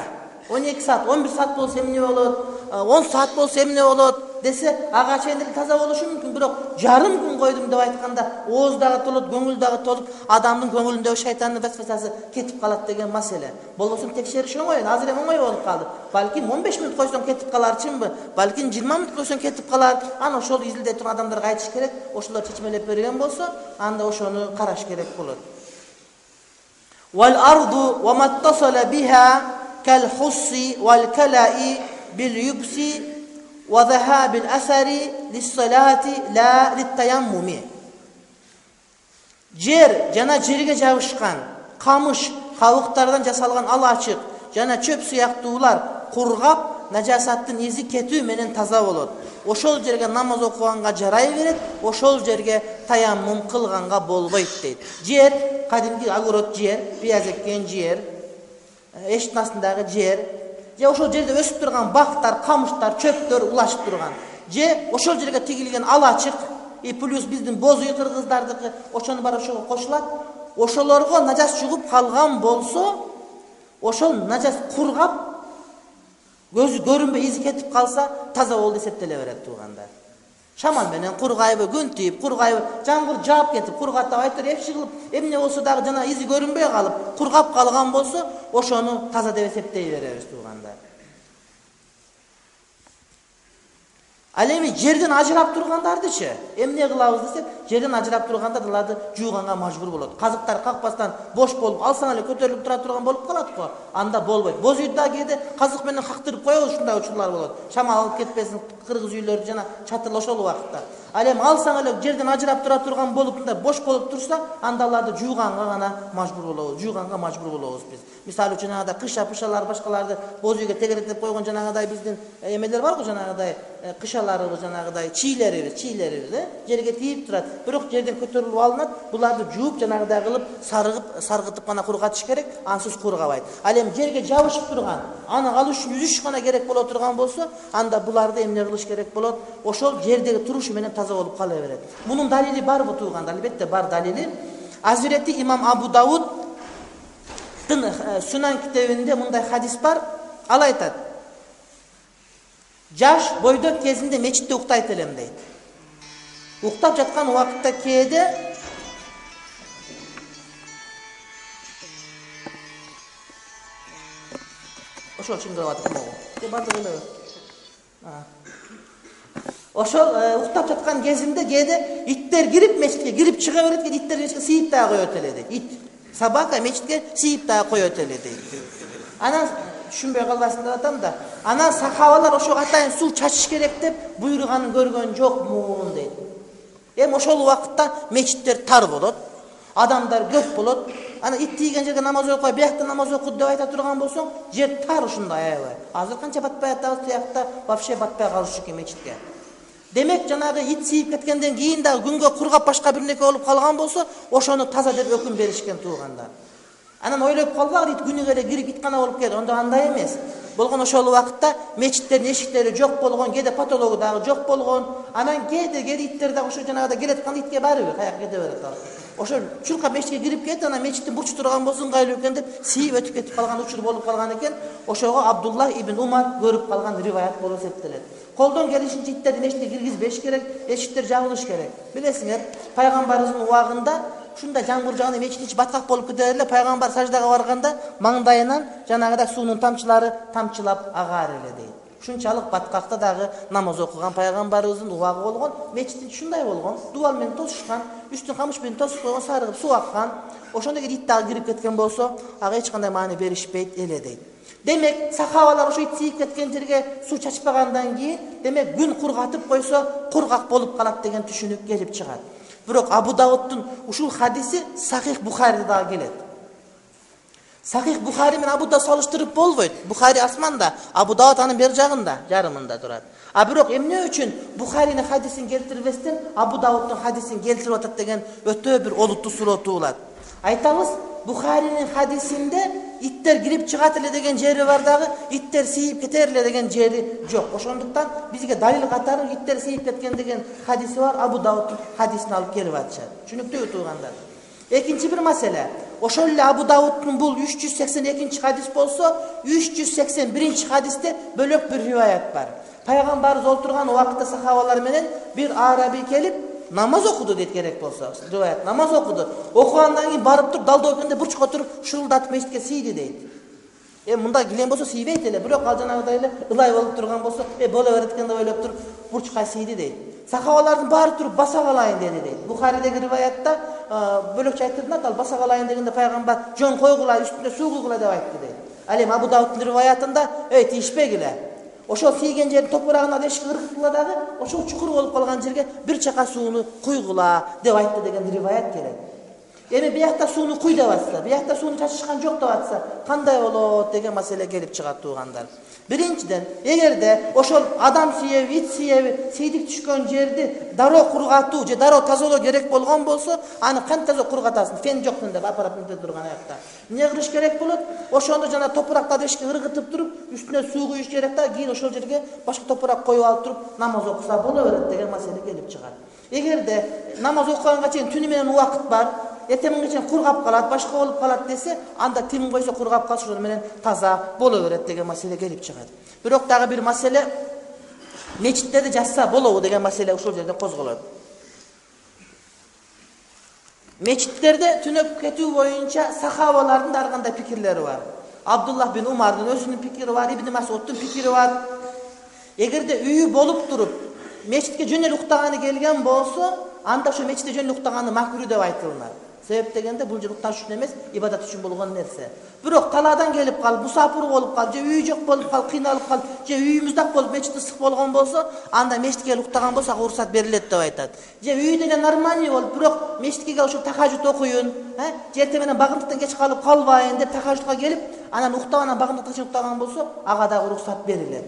он эки саат, он бир саат болсо эмне болот, он саат болсо эмне болот десе, ага чейин деле таза болушу мүмкүн, бирок жарым күн койдум деп айтканда, ооз дагы толот, көңүл дагы толуп, адамдын көңүлүндөгү шайтандын васвасасы кетип калат деген маселе. Болбосо текшериш оңой, азыр эми оңой болуп калды. Балким он беш мүнөт койсоң кетип калар, чынбы? Балким жыйырма мүнөт койсоң кетип калар. Аны ошол изилдей турган адамдарга айтыш керек. Ошолор чечмелеп берген болсо, анда ошону караш керек болот. Wal ardu wa mattasala biha kal hussi wal kala'i bil yubsi wa dhahab al athari lis salati la lit tayammumi. Жер жана жерге жабышкан камыш, кабыктардан жасалган ал ачык жана чөп сыяктуулар кургап, нажасаттын изи кетүү менен таза болот. ошол жерге намаз окуганга жарай берет, ошол жерге таяммум кылганга болбойт дейт. Жер, кадимки огород жер, пияз эккен жер, эшиктин астындагы жер, же ошол жерде өсүп турган бактар, камыштар, чөптөр улашып турган, же ошол жерге тигилген алачык, и плюс биздин боз үй кыргыздардыкы, ошону бар ошого кошулат. Ошолорго нажас жугуп калган болсо, ошол нажас кургап, көзү көрүнбөй изи кетип калса, таза болду эсептеле берет туугандар. Шамал менен кургайбы, күн тийип, кургайбы, жамгыр жаап кетип, кургатып айтыр, эпши кылып, эмне болсо дагы жана изи көрүнбөй калып, кургап калган болсо, ошону таза деп эсептей беребиз туугандар. Ал эми жерден ажырап тургандардычы эмне кылабыз десек, жерден ажырап тургандар аларды жууганга мажбур болот. Казыктар какпастан бош болуп, алсаң эле көтөрүлүп тура турган болуп калат го. Анда болбойт. Боз үйдө кээде казык менен кактырып коебуз, ушундай учурлар болот. Шамал алып кетпесин кыргыз үйлөрдү жана чатыр ошол убакытта. Ал эми алсаң эле жерден ажырап тура турган болуп, мындай бош болуп турса, анда аларды жууганга гана мажбур болобуз. Жууганга мажбур болобуз биз. Мисалы үчүн жанагыдай кыша пышалар башкаларды боз үйгө тегеректеп койгон жанагыдай биздин эмелер бар го, жанагыдай кышаларыбыз, жанагыдай чийлерибиз, чийлерибиз, э, жерге тийип турат. Бирок жерден көтөрүлүп алынат. Буларды жууп жанагыдай кылып сарыгып, саргытып гана кургатыш керек, ансыз кургабайт. Ал эми жерге жабышып турган, аны алыш үчүн жүзүш гана керек боло турган болсо, анда буларды эмне кылыш керек болот? Ошол жердеги турушу менен таза болуп кала берет. Мунун далили барбы туугандар? Албетте бар далили. Азирети имам Абу Дауд Сунан китебинде мындай хадис бар. Ал айтат: жаш бойдок кезинде мечитте уктайт элем дейт. Уктап жаткан убакытта кээде ошол чыңгырап атат могу. Те бардык эле. Ошол уктап жаткан кезинде кээде иттер кирип мечитке кирип чыга берет, кээде иттер мечитке сыйып дагы коет эле дейт. Ит, собака мечитке сыйып дагы коет эле дейт. Анан түшүнбөй калбасын деп атам да. Анан сахабалар ошого атайын суу чачыш керек деп буйруганын көргөн жокмун дейт. Эми ошол убакытта мечиттер тар болот, адамдар көп болот. Ана ит тийген жерге намаз окуй, биякта намаз окуп деп айта турган болсоң, жер тар ушундай аябай. Азыр канча батпай атабыз, тиякта вообще батпай калышы экен мечитке. Демек жанагы ит сийип кеткенден кийин дагы күнгө кургап башка бир нерсе болуп калган болсо, ошону таза деп өкүм беришкен туугандар. Анан ойлоп калбагыр, ит күнүгө эле кирип иткана болуп келет. Онда андай эмес. Болгон ошол убакытта мечиттердин эшиктери жок болгон, кээде патологу дагы жок болгон. Анан кээде кээде иттер дагы ошо жанагыда келаткан итке барыбы, каяка кете берет ал. Ошо чуркап мечитке кирип кетти, анан мечиттин бурчу турган болсо ыңгайлуу экен деп сийип өтүп кетип калган учур болуп калган экен. Ошого Абдулла ибн Умар көрүп калган риваят болуп эсептелет. Колдон келишинче иттерди мечитке киргизбеш керек, эшиктер жабылыш керек. Билесиңер, пайгамбарыбыздын убагында ушундай жамгыр жааганда мечиттин ичи баткак болуп кетер эле, пайгамбар саждага барганда маңдайынан жанагыдай суунун тамчылары тамчылап агар эле дейт. Ушунчалык баткакта дагы намаз окуган пайгамбарыбыздын убагы болгон, мечиттин ушундай болгон, дубал менен тосушкан, үстүн камыш менен тосуп койгон, сарыгып суу аккан. Ошондо кийин ит дагы кирип кеткен болсо, ага эч кандай маани беришпейт эле дейт. Демек, сахабалар ошо ит сийип кеткен жерге суу чачпагандан кийин, демек күн кургатып койсо, кургак болуп калат деген түшүнүк келип чыгат. Бирок Абу Давудтун ушул хадиси Сахих Бухариде дагы келет. Сахих Бухари менен Абу Давуд салыштырып болбойт. Бухари асманда, Абу Давуд анын бер жагында, жарымында турат. А бирок эмне үчүн Бухаринин хадисин келтирбестен Абу Давудтун хадисин келтирип атат деген өтө бир олуттуу суроо туулат. Айтабыз, Бухаринин хадисинде иттер кирип чыгат эле деген жери бар дагы, иттер сийип кетер эле деген жери жок. Ошондуктан бизге далил катары иттер сийип кеткен деген хадиси бар, Абу Давудтун хадисин алып келип атышат. Түшүнүктүүбү туугандар? Экинчи бир маселе. Ошол эле Абу Давудтун бул үч жүз сексен экинчи хадис болсо, үч жүз сексен биринчи хадисте бөлөк бир риваят бар. Пайгамбарыбыз олтурган убакытта сахабалар менен бир араби келип намаз окуду дейт керек болсо. Риваят намаз окуду. Окугандан кийин барып туруп далда өкөндө бурчка туруп шурулдатып мечитке сийди дейт. Э мындай килем болсо сийбейт эле, бирок ал жанагыдай эле ылай болуп турган болсо, э боло берет экен деп ойлоп туруп бурчка сийди дейт. Сахабалардын баары туруп баса калайын деди дейт. Бухаридеги риваятта бөлөкчө айтылат, ал баса калайын дегенде пайгамбар жон койгула, үстүнө суу куйгула деп айтты дейт. Ал эми Абу Давудтун риваятында эй тийишпегиле. Ошол тийген жердин топурагына дешик ыргыткыла дагы, ошол чукур болуп калган жерге бир чака сууну куйгула деп айтты деген риваят келет. Эми биякта сууну куй деп атса, биякта сууну чачышкан жок деп атса, кандай болот деген маселе келип чыгат туугандар. Биринчиден, эгерде ошол адам сүйеби, ит сүйеби, сейдик түшкөн жерди дароо кургатуу же дароо тазалоо керек болгон болсо, аны кантип таза кургатасың? Фен жок деп апарат мынтип турган аякта. Эмне кылыш керек болот? Ошондо жана топуракта дешке ыргытып туруп, үстүнө суу куюш керек да, кийин ошол жерге башка топурак коюп алып туруп намаз окуса боло берет деген маселе келип чыгат. Эгерде намаз окуганга чейин түнү менен убакыт бар, эртеңге чейин кургап калат, башка болуп калат десе, анда тим койсо кургап калса ошол менен таза боло берет деген маселе келип чыгат. Бирок дагы бир маселе, мечиттерди жазса болобу деген маселе ушул жерде козголот. Мечиттерде түнөп кетүү боюнча сахабалардын да ар кандай пикирлери бар. Абдуллах бин Умардын өзүнүн пикири бар, Ибн Масуддун пикири бар. Эгерде үйү болуп туруп, мечитке жөн эле уктаганы келген болсо, анда ошо мечитте жөн эле уктаганы макруh деп айтылынат. Себеп дегенде бул жер укташ үчүн эмес, ибадат үчүн болгон нерсе. Бирок талаадан келип калып, мусафир болуп калып, же үй жок болуп калып, кыйналып калып, же үйүмүз дак болуп, мечит ысык болгон болсо, анда мечитке келип уктаган болсо, ага уруксат берилет деп айтат. Же үй деген нормальный болуп, бирок мечитке келип ошо тахажжуд окуйун, же эртең менен багындыктан кеч калып калбайын деп тахажжудка келип, анан уктабанан багындыктан кеч уктаган болсо, ага дагы уруксат берилет.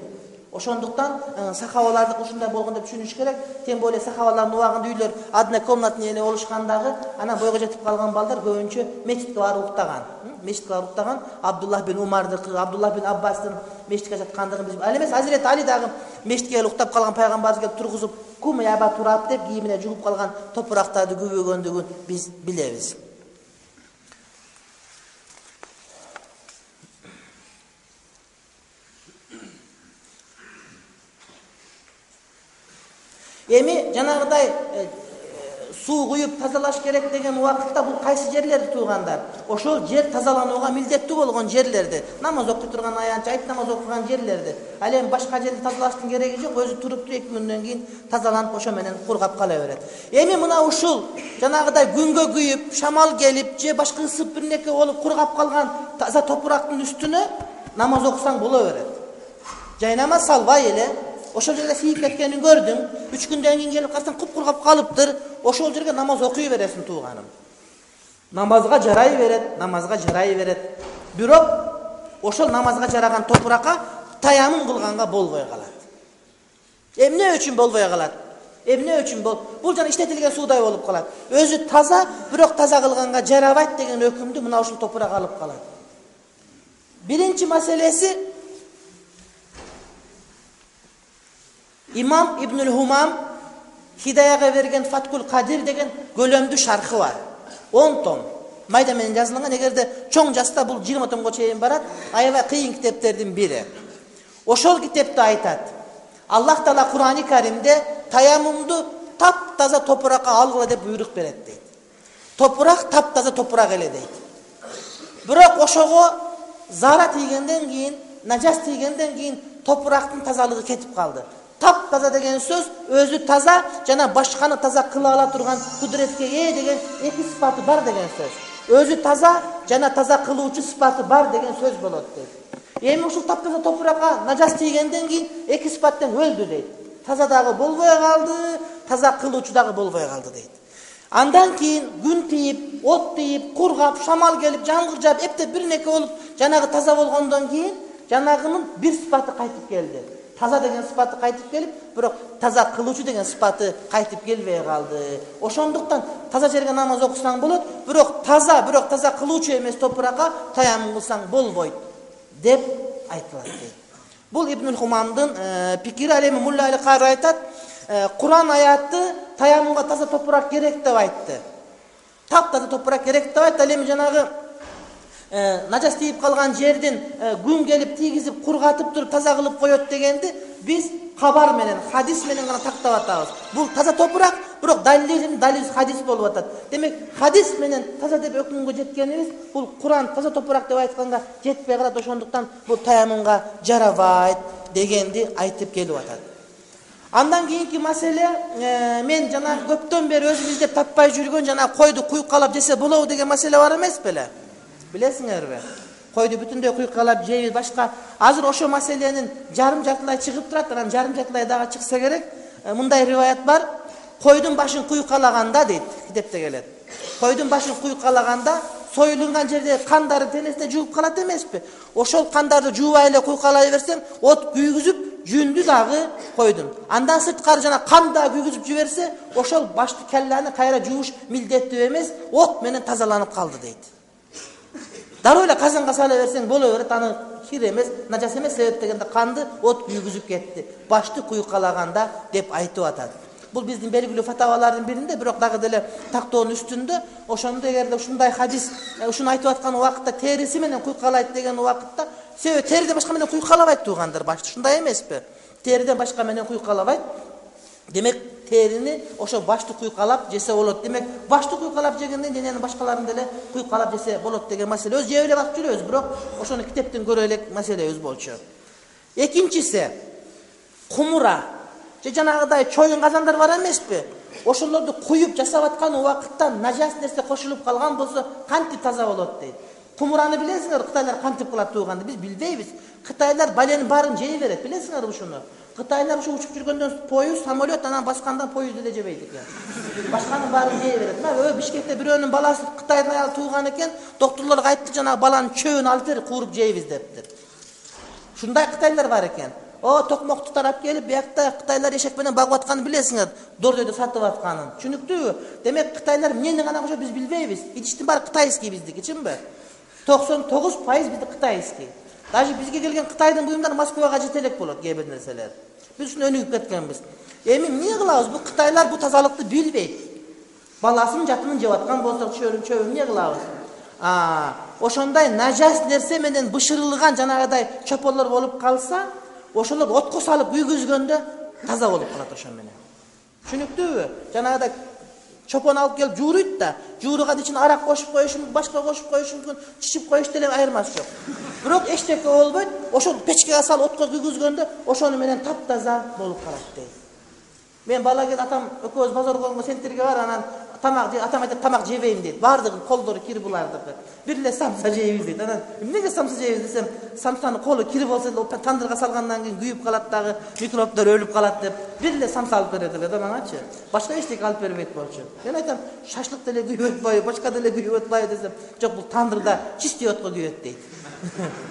Ошондуктан сахабалардык ушундай болгон деп түшүнүш керек. Тем более сахабалардын убагында үйлөр однокомнатный эле болушкандагы, анан бойго жетип калган балдар көбүнчө мечитке барып уктаган. Мечитке барып уктаган. Абдуллах бин Умардыкы, Абдуллах бин Аббастын мечитке жаткандыгын биз. Ал эмес, Азирет Али дагы мечитке келип уктап калган пайгамбарыбыз келип тургузуп, "Кум я Аба Тураб" деп кийимине жугуп калган топурактарды күбөгөндүгүн биз билебиз. Эми жанагыдай суу куюп тазалаш керек деген убакытта бул кайсы жерлерди туугандар? Ошол жер тазаланууга милдеттүү болгон жерлерди, намаз окуй турган аянт, айт намаз окуган жерлерди. Ал эми башка жерди тазалаштын кереги жок, өзү туруп туруп эки күндөн кийин тазаланып ошо менен кургап кала берет. Эми мына ушул жанагыдай күнгө күйүп, шамал келип, же башка ысып бир неке болуп кургап калган таза топурактын үстүнө намаз окусаң боло берет. Жайнама салбай эле ошол жерде сийип кеткенин көрдүң, үч күндөн кийин келип калсаң куп-кургап калыптыр, ошол жерге намаз окуй бересиң тууганым. Намазга жарай берет, намазга жарай берет. Бирок ошол намазга жараган топуракка таямын кылганга болбой калат. Эмне үчүн болбой калат? Эмне үчүн бол? Бул жана иштетилген суудай болуп калат. Өзү таза, бирок таза кылганга жарабайт деген өкүмдү мына ушул топурак алып калат. Биринчи маселеси Имам Ибнул Хумам Хидаяга берген Фаткул Кадир деген көлөмдүү шархы бар. он том. Майда менен жазылган, эгерде чоң жазса бул жыйырма томго чейин барат. Аябай кыйын китептердин бири. Ошол китепте айтат. Аллах Таала Кур'ани Каримде таяммумду таптаза топуракка алгыла деп буйрук берет дейт. Топурак таптаза топурак эле дейт. Бирок ошого зара тийгенден кийин, нажас тийгенден кийин топурактын тазалыгы кетип калды. Тап таза деген сөз өзү таза жана башканы таза кыла ала турган кудуретке ээ деген эки сыпаты бар деген сөз. Өзү таза жана таза кылуучу сыпаты бар деген сөз болот дейт. Эми ушул таптаза топуракка нажас тийгенден кийин эки сыпаттан өлдү дейт. Таза дагы болбой калды, таза кылуучу дагы болбой калды дейт. Андан кийин күн тийип, от тийип, кургап, шамал келип, жамгыр жаап, эптеп бир неке болуп, жанагы таза болгондон кийин жанагынын бир сыпаты кайтып келди. Таза деген сыпаты кайтып келип, бирок таза кылуучу деген сыпаты кайтып келбей калды. Ошондуктан таза жерге намаз окусаң болот, бирок таза, бирок таза кылуучу эмес топуракка таяммум кылсаң болбойт деп айтылат дейт. Бул Ибнул Хумамдын пикири. Ал эми Мулла Али Кари айтат, Кур'ан аяты таяммумга таза топурак керек деп айтты. Тап таза топурак керек деп айтты. Ал эми жанагы нажас тийип калган жердин күн келип тийгизип кургатып туруп таза кылып коет дегенди биз кабар менен, хадис менен гана тактап атабыз. Бул таза топурак, бирок далилин далил хадис болуп атат. Демек, хадис менен таза деп өкүмгө жеткенибиз бул Кур'ан таза топурак деп айтканга жетпей калат. Ошондуктан бул таяммумга жарабайт дегенди айтып келип атат. Андан кийинки маселе, мен жана көптөн бери өзүм издеп таппай жүргөн жана койду куйкалап жесе болобу деген маселе бар эмес беле? Билесиңерби? Койду бүтүндөй куйкалап жейбиз, башка. Азыр ошо маселенин жарым жартылай чыгып турат, анан жарым жартылай дагы чыкса керек. Мындай риваят бар. Койдун башын куйкалаганда дейт, китепте келет. Койдун башын куйкалаганда союлунган жерде кандары денесине жууп калат эмеспи? Ошол кандарды жуубай эле куйкалай берсең, от күйгүзүп жүндү дагы койдун. Андан сырткары жана кан да күйгүзүп жиберсе, ошол башты келлени кайра жууш милдеттүү эмес, от менен тазаланып калды дейт. Дароо эле казанга сала берсең боло берет, аны кир эмес, нажас эмес себеп дегенде канды от күйгүзүп кетти. Башты куйкалаганда деп айтып атат. Бул биздин белгилүү фатавалардын биринде, бирок дагы деле тактоонун үстүндө ошондо эгерде ушундай хадис ушуну айтып аткан убакытта териси менен куйкалайт деген убакытта, себеби териден башка менен куйкалабайт туугандар, башты ушундай эмеспи? Териден башка менен куйкалабайт. Демек терини ошо башты куйкалап жесе болот. Демек башты куйкалап жегенден дененин башкаларын деле куйкалап жесе болот деген маселе. Өз жеп эле бакып жүрөбүз, бирок ошону китептен көрө элек маселебиз болчу. Экинчиси кумура. Же жанагыдай чоюн казандар бар эмеспи? Ошолорду куюп жасап аткан убакытта нажас нерсе кошулуп калган болсо кантип таза болот дейт. Кумураны билесиңер, кытайлар кантип кылат тууганды биз билбейбиз. Кытайлар баленин баарын жей берет, билесиңер ушуну. Кытайлар ушу учуп жүргөндөн поезд, самолет, анан баскандан поезд деле жебейт экен. Башканын баарын жей берет. Мына Бишкекте бирөөнүн баласы Кытайдын аялы тууган экен, доктурлорго айтты, жанагы баланын чөбүн алып бер, кууруп жейбиз дептир. Ушундай кытайлар бар экен. О, токмокту тарап келип, биякта кытайлар эшек менен багып атканын билесиңер, дордойдо сатып атканын. Түшүнүктүүбү? Демек кытайлар эмнени гана кошот биз билбейбиз. Идиштин баары кытайский биздики, чынбы? токсон тогуз пайыз биздики кытайский. Даже бизге келген Кытайдын буюмдары Москвага жете элек болот, кээ бир нерселер. Биз ушуну өнүгүп кеткенбиз. Эми эмне кылабыз? Бу кытайлар бу тазалыкты билбейт. Баласын жатынын жеп аткан болсо, чөбүн чөбүн эмне кылабыз? А, ошондой нажас нерсе менен бышырылган жанагыдай чополор болуп калса, ошолор отко салып күйгүзгөндө таза болуп калат ошо менен. Түшүнүктүүбү? Жанагыдай чопон алып келип жууруйт да, жууруган ичине арак кошуп коюш мүмкүн, башка кошуп коюш мүмкүн, чичип коюш деле айырмасы жок. Бирок эчтеке болбойт, ошол печкеге салып отко күйгүзгөндө ошону менен таптаза болуп калат дейт. Мен бала кезде атам экөөбүз базарга сентерге бар, анан тамак же атам айтат, тамак жебейм дейт. Бардыгы колдору кир булардыкы. Бир эле самса жейбиз дейт. Анан эмнеге самса жейбиз десем, самсанын колу кир болсо эле тандырга салгандан кийин күйүп калат дагы, микробдор өлүп калат деп, бир эле самса алып берет эле маңачы. Башка эчтеке алып бербейт болчу. Мен айтам, шашлык деле күйүп атпайбы, башка деле күйүп атпайбы десем, жок, бул тандырда чистый отко күйөт дейт.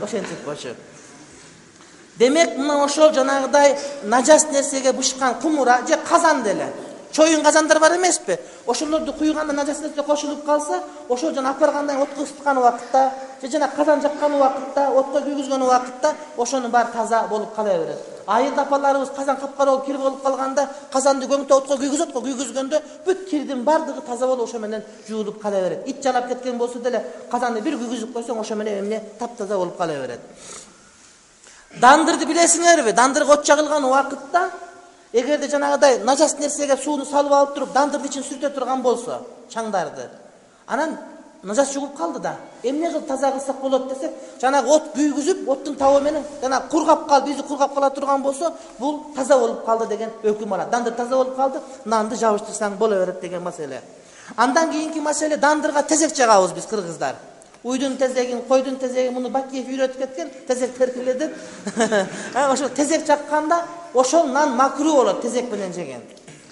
Ошентип болчу. Демек, мына ошол жанагыдай нажас нерсеге бышкан кумура же казан деле. Чоюн казандар бар эмеспи? Ошолорду куйганда нажас нерсе кошулуп калса, ошол жана апаргандан отко ысыткан убакытта, же жана казан жаккан убакытта, отко күйгүзгөн убакытта ошонун баары таза болуп кала берет. Айылда апаларыбыз казан капкара болуп кир болуп калганда, казанды көңтө отко күйгүзөт, күйгүзгөндө бүт кирдин бардыгы таза болуп ошо менен жуулуп кала берет. Ит жалап кеткен болсо деле казанды бир күйгүзүп койсоң ошо менен эмне таптаза болуп кала берет. Дандырды билесиңерби? Дандырга от жагылган убакытта эгерде жанагыдай нажас нерсеге сууну салып алып туруп, дандырдын ичин сүртө турган болсо, чаңдарды. Анан нажас жугуп калды да. Эмне кылып таза кылсак болот десек, жанагы от күйгүзүп, оттун табы менен жана кургап калып, изи кургап кала турган болсо, бул таза болуп калды деген өкүм алат. Дандыр таза болуп калды, нанды жабыштырсаң боло берет деген маселе. Андан кийинки маселе, дандырга тезек жагабыз биз кыргыздар. Уйдун тезегин, койдун тезегин муну Бакиев үйрөтүп кеткен, тезек теркиле деп. Ошо тезек жакканда ошол нан макруу болот тезек менен жеген.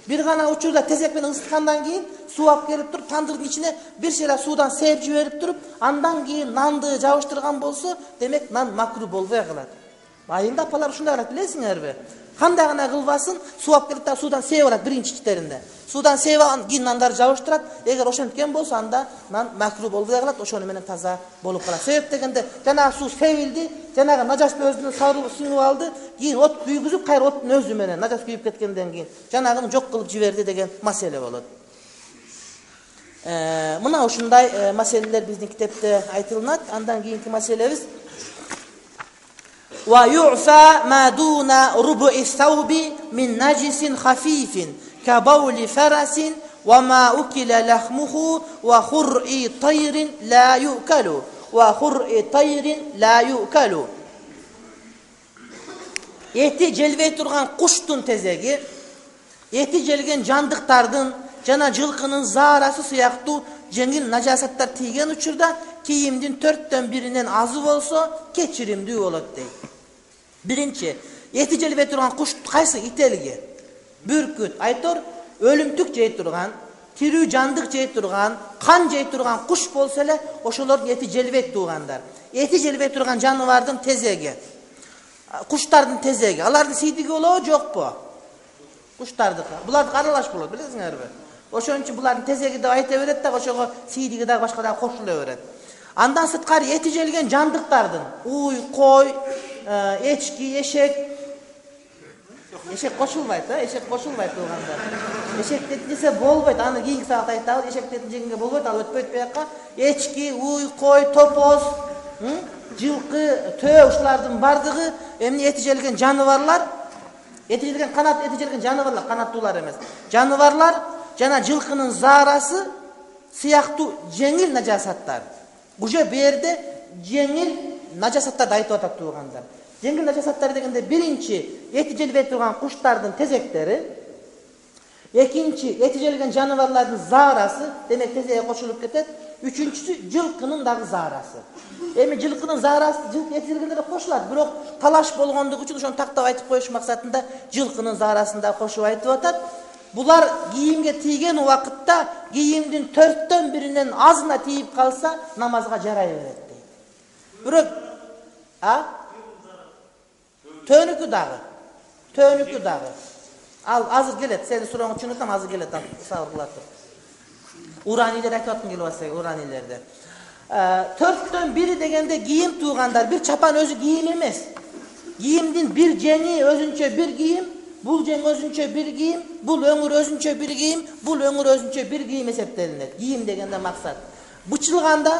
Бир гана учурда тезек менен ысыткандан кийин суу алып келип туруп, тандырдын ичине бир шеля суудан сээп жиберип туруп, андан кийин нанды жабыштырган болсо, демек нан макруу болбой калат. Айылда апалар ушундай кылат, билесиңерби? Кандай гана кылбасын, суу алып келип та суудан сээп алат биринчи четеринде. Суудан сээп алган кийин нандарды жабыштырат. Эгер ошенткен болсо, анда нан макруу болбой калат, ошону менен таза болуп калат. Себеп дегенде, жанагы суу себилди, жанагы нажасты өзүнө сарылып сиңип алды, кийин от күйгүзүп, кайра оттун өзү менен нажас күйүп кеткенден кийин жанагыны жок кылып жиберди деген маселе болот. Э, мына ушундай маселелер биздин китепте айтылат. Андан кийинки маселебиз wa yu'fa ma duna rubu'i thawbi min najisin khafifin ka bawli farasin wa ma ukila lahmuhu wa khur'i tayrin la yu'kalu wa khur'i tayrin la yu'kalu. Эти желбей турган куштун тезеги, эти желген жандыктардын жана жылкынын заарасы сыяктуу жеңил нажасаттар тийген учурда кийимдин төрттөн биринен азы болсо кечиримдүү болот дейт. Биринчи, эти желбей турган куш кайсы? Ителги, бүркүт, айтор, өлүмтүк жей турган, тирүү жандык жей турган, кан жей турган куш болсо эле ошолордун эти желбейт туугандар. Эти желбей турган жаныбардын тезеги, куштардын тезеги, алардын сийдиги болобу, жокпу? Куштардыкы. Булардыкы аралаш болот, билесиңерби? Ошон үчүн булардын тезеги деп айта берет да, ошого сийдиги дагы башка дагы кошула берет. Андан сырткары эти желген жандыктардын уй, кой, эчки, эшек, эшек кошулбайт, а? Эшек кошулбайт туугандар. Эшек десе болбойт, аны кийинки саат айтабыз. Эшек жегенге болбойт, ал өтпөйт буяка. Эчки, уй, кой, топоз, жылкы, төө ушулардын бардыгы эмне эти желген жаныбарлар, эти желген канат, эти желген жаныбарлар, канаттуулар эмес. Жаныбарлар жана жылкынын заарасы сыяктуу жеңил нажасаттар. Уже бу жерде жеңил нажасаттарды айтып атат туугандар. Жеңил нажасаттар дегенде биринчи эти желбей турган куштардын тезектери, экинчи эти желген жаныбарлардын заарасы, демек тезеге кошулуп кетет. Үчүнчүсү жылкынын дагы заарасы. Эми жылкынын заарасы жылкы эти желгендерге кошулат, бирок талаш болгондугу үчүн ошону тактап айтып коюш максатында жылкынын заарасын да кошуп айтып атат. Булар кийимге тийген убакытта кийимдин төрттөн биринен азына тийип калса намазга жарай берет дейт. Бирок а төнүкү дагы, төнүкү дагы. Ал азыр келет, сени сурооңду түшүнөтөм, азыр келет, сабыр кыла тур. Уранилер айтып аткан келип атса, уранилерде. Төрттөн бири дегенде кийим туугандар, бир чапан өзү кийим эмес. Кийимдин бир жеңи өзүнчө бир кийим, бул жең өзүнчө бир кийим, бул өңүр өзүнчө бир кийим, бул өңүр өзүнчө бир кийим эсептелинет. Кийим дегенде максат. Бычылганда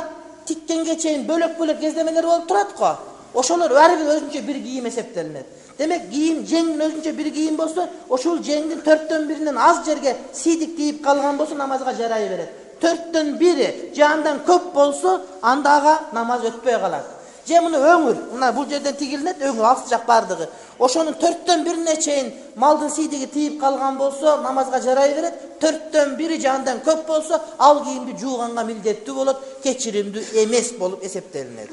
тиккенге чейин бөлөк-бөлөк кездемелер болуп турат го. Ошолор ар бир өзүнчө бир кийим эсептелинет. Демек кийим жеңдин өзүнчө бир кийим болсо, ошол жеңдин төрттөн биринен аз жерге сийдик тийип калган болсо намазга жарай берет. Төрттөн бири же андан көп болсо, анда ага намаз өтпөй калат. Же муну өңүр, мына бул жерден тигилинет, өңүр алты жак бардыгы. Ошонун төрттөн бирине чейин малдын сийдиги тийип калган болсо, намазга жарай берет. Төрттөн бири же андан көп болсо, ал кийимди жууганга милдеттүү болот, кечиримдүү эмес болуп эсептелинет.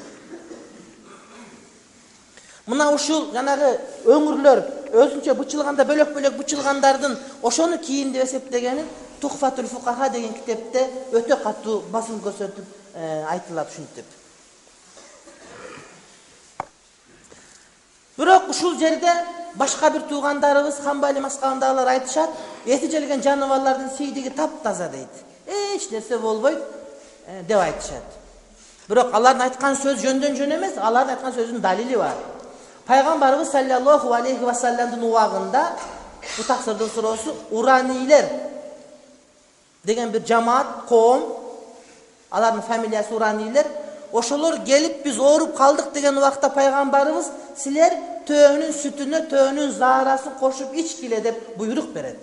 Мына ушул жанагы өңүрлөр өзүнчө бычылганда бөлөк-бөлөк бычылгандардын ошону кийим деп эсептегенин Тухфатул Фукаха деген китепте өтө катуу басым көрсөтүп айтылат ушинтип. Бирок ушул жерде башка бир туугандарыбыз Хамбали маскабындагылар айтышат, эти желген жаныбарлардын сийдиги таптаза дейт. Эч нерсе болбойт деп айтышат. Бирок алардын айткан сөз жөндөн жөн эмес, алардын айткан сөзүнүн далили бар. Пайгамбарыбыз саллаллаху алейхи ва салламдын убагында бу таксырдын суроосу уранилер деген бир жамаат, коом, алардын фамилиясы уранилер, ошолор келип биз ооруп калдык деген убакта пайгамбарыбыз силер төөнүн сүтүнө төөнүн заарасын кошуп ичкиле деп буйрук берет.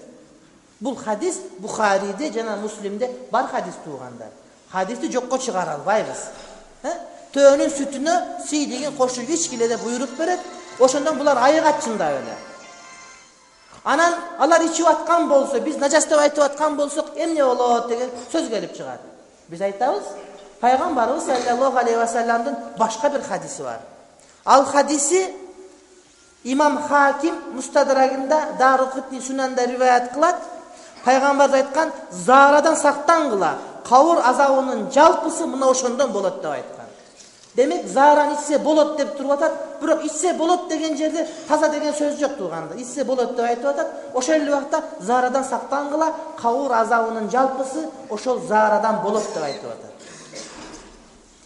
Бул хадис Бухариде жана Муслимде бар хадис туугандар. Хадисти жокко чыгара албайбыз. Төөнүн сүтүнө сийдигин кошуп ичкиле деп буйрук берет. Ошондон булар айыгат чындап эле. Анан алар ичип аткан болсо, биз нажас деп айтып аткан болсок, эмне болот деген сөз келип чыгат. Биз айтабыз, Пайгамбарыбыз саллаллаху алейхи ва салламдын башка бир хадиси бар. Ал хадиси Имам Хаким Мустадрагында, Даруқутни Сунанда риваят кылат. Пайгамбар айткан, заарадан сактангыла, кабыр азабынын жалпысы мына ошондон болот деп айткан. Демек зааран ичсе болот деп туруп атат, бирок ичсе болот деген жерде таза деген сөз жок тууганда. Ичсе болот деп айтып атат. Ошол эле убакта заарадан сактангыла, кабыр азабынын жалпысы ошол заарадан болот деп айтып атат.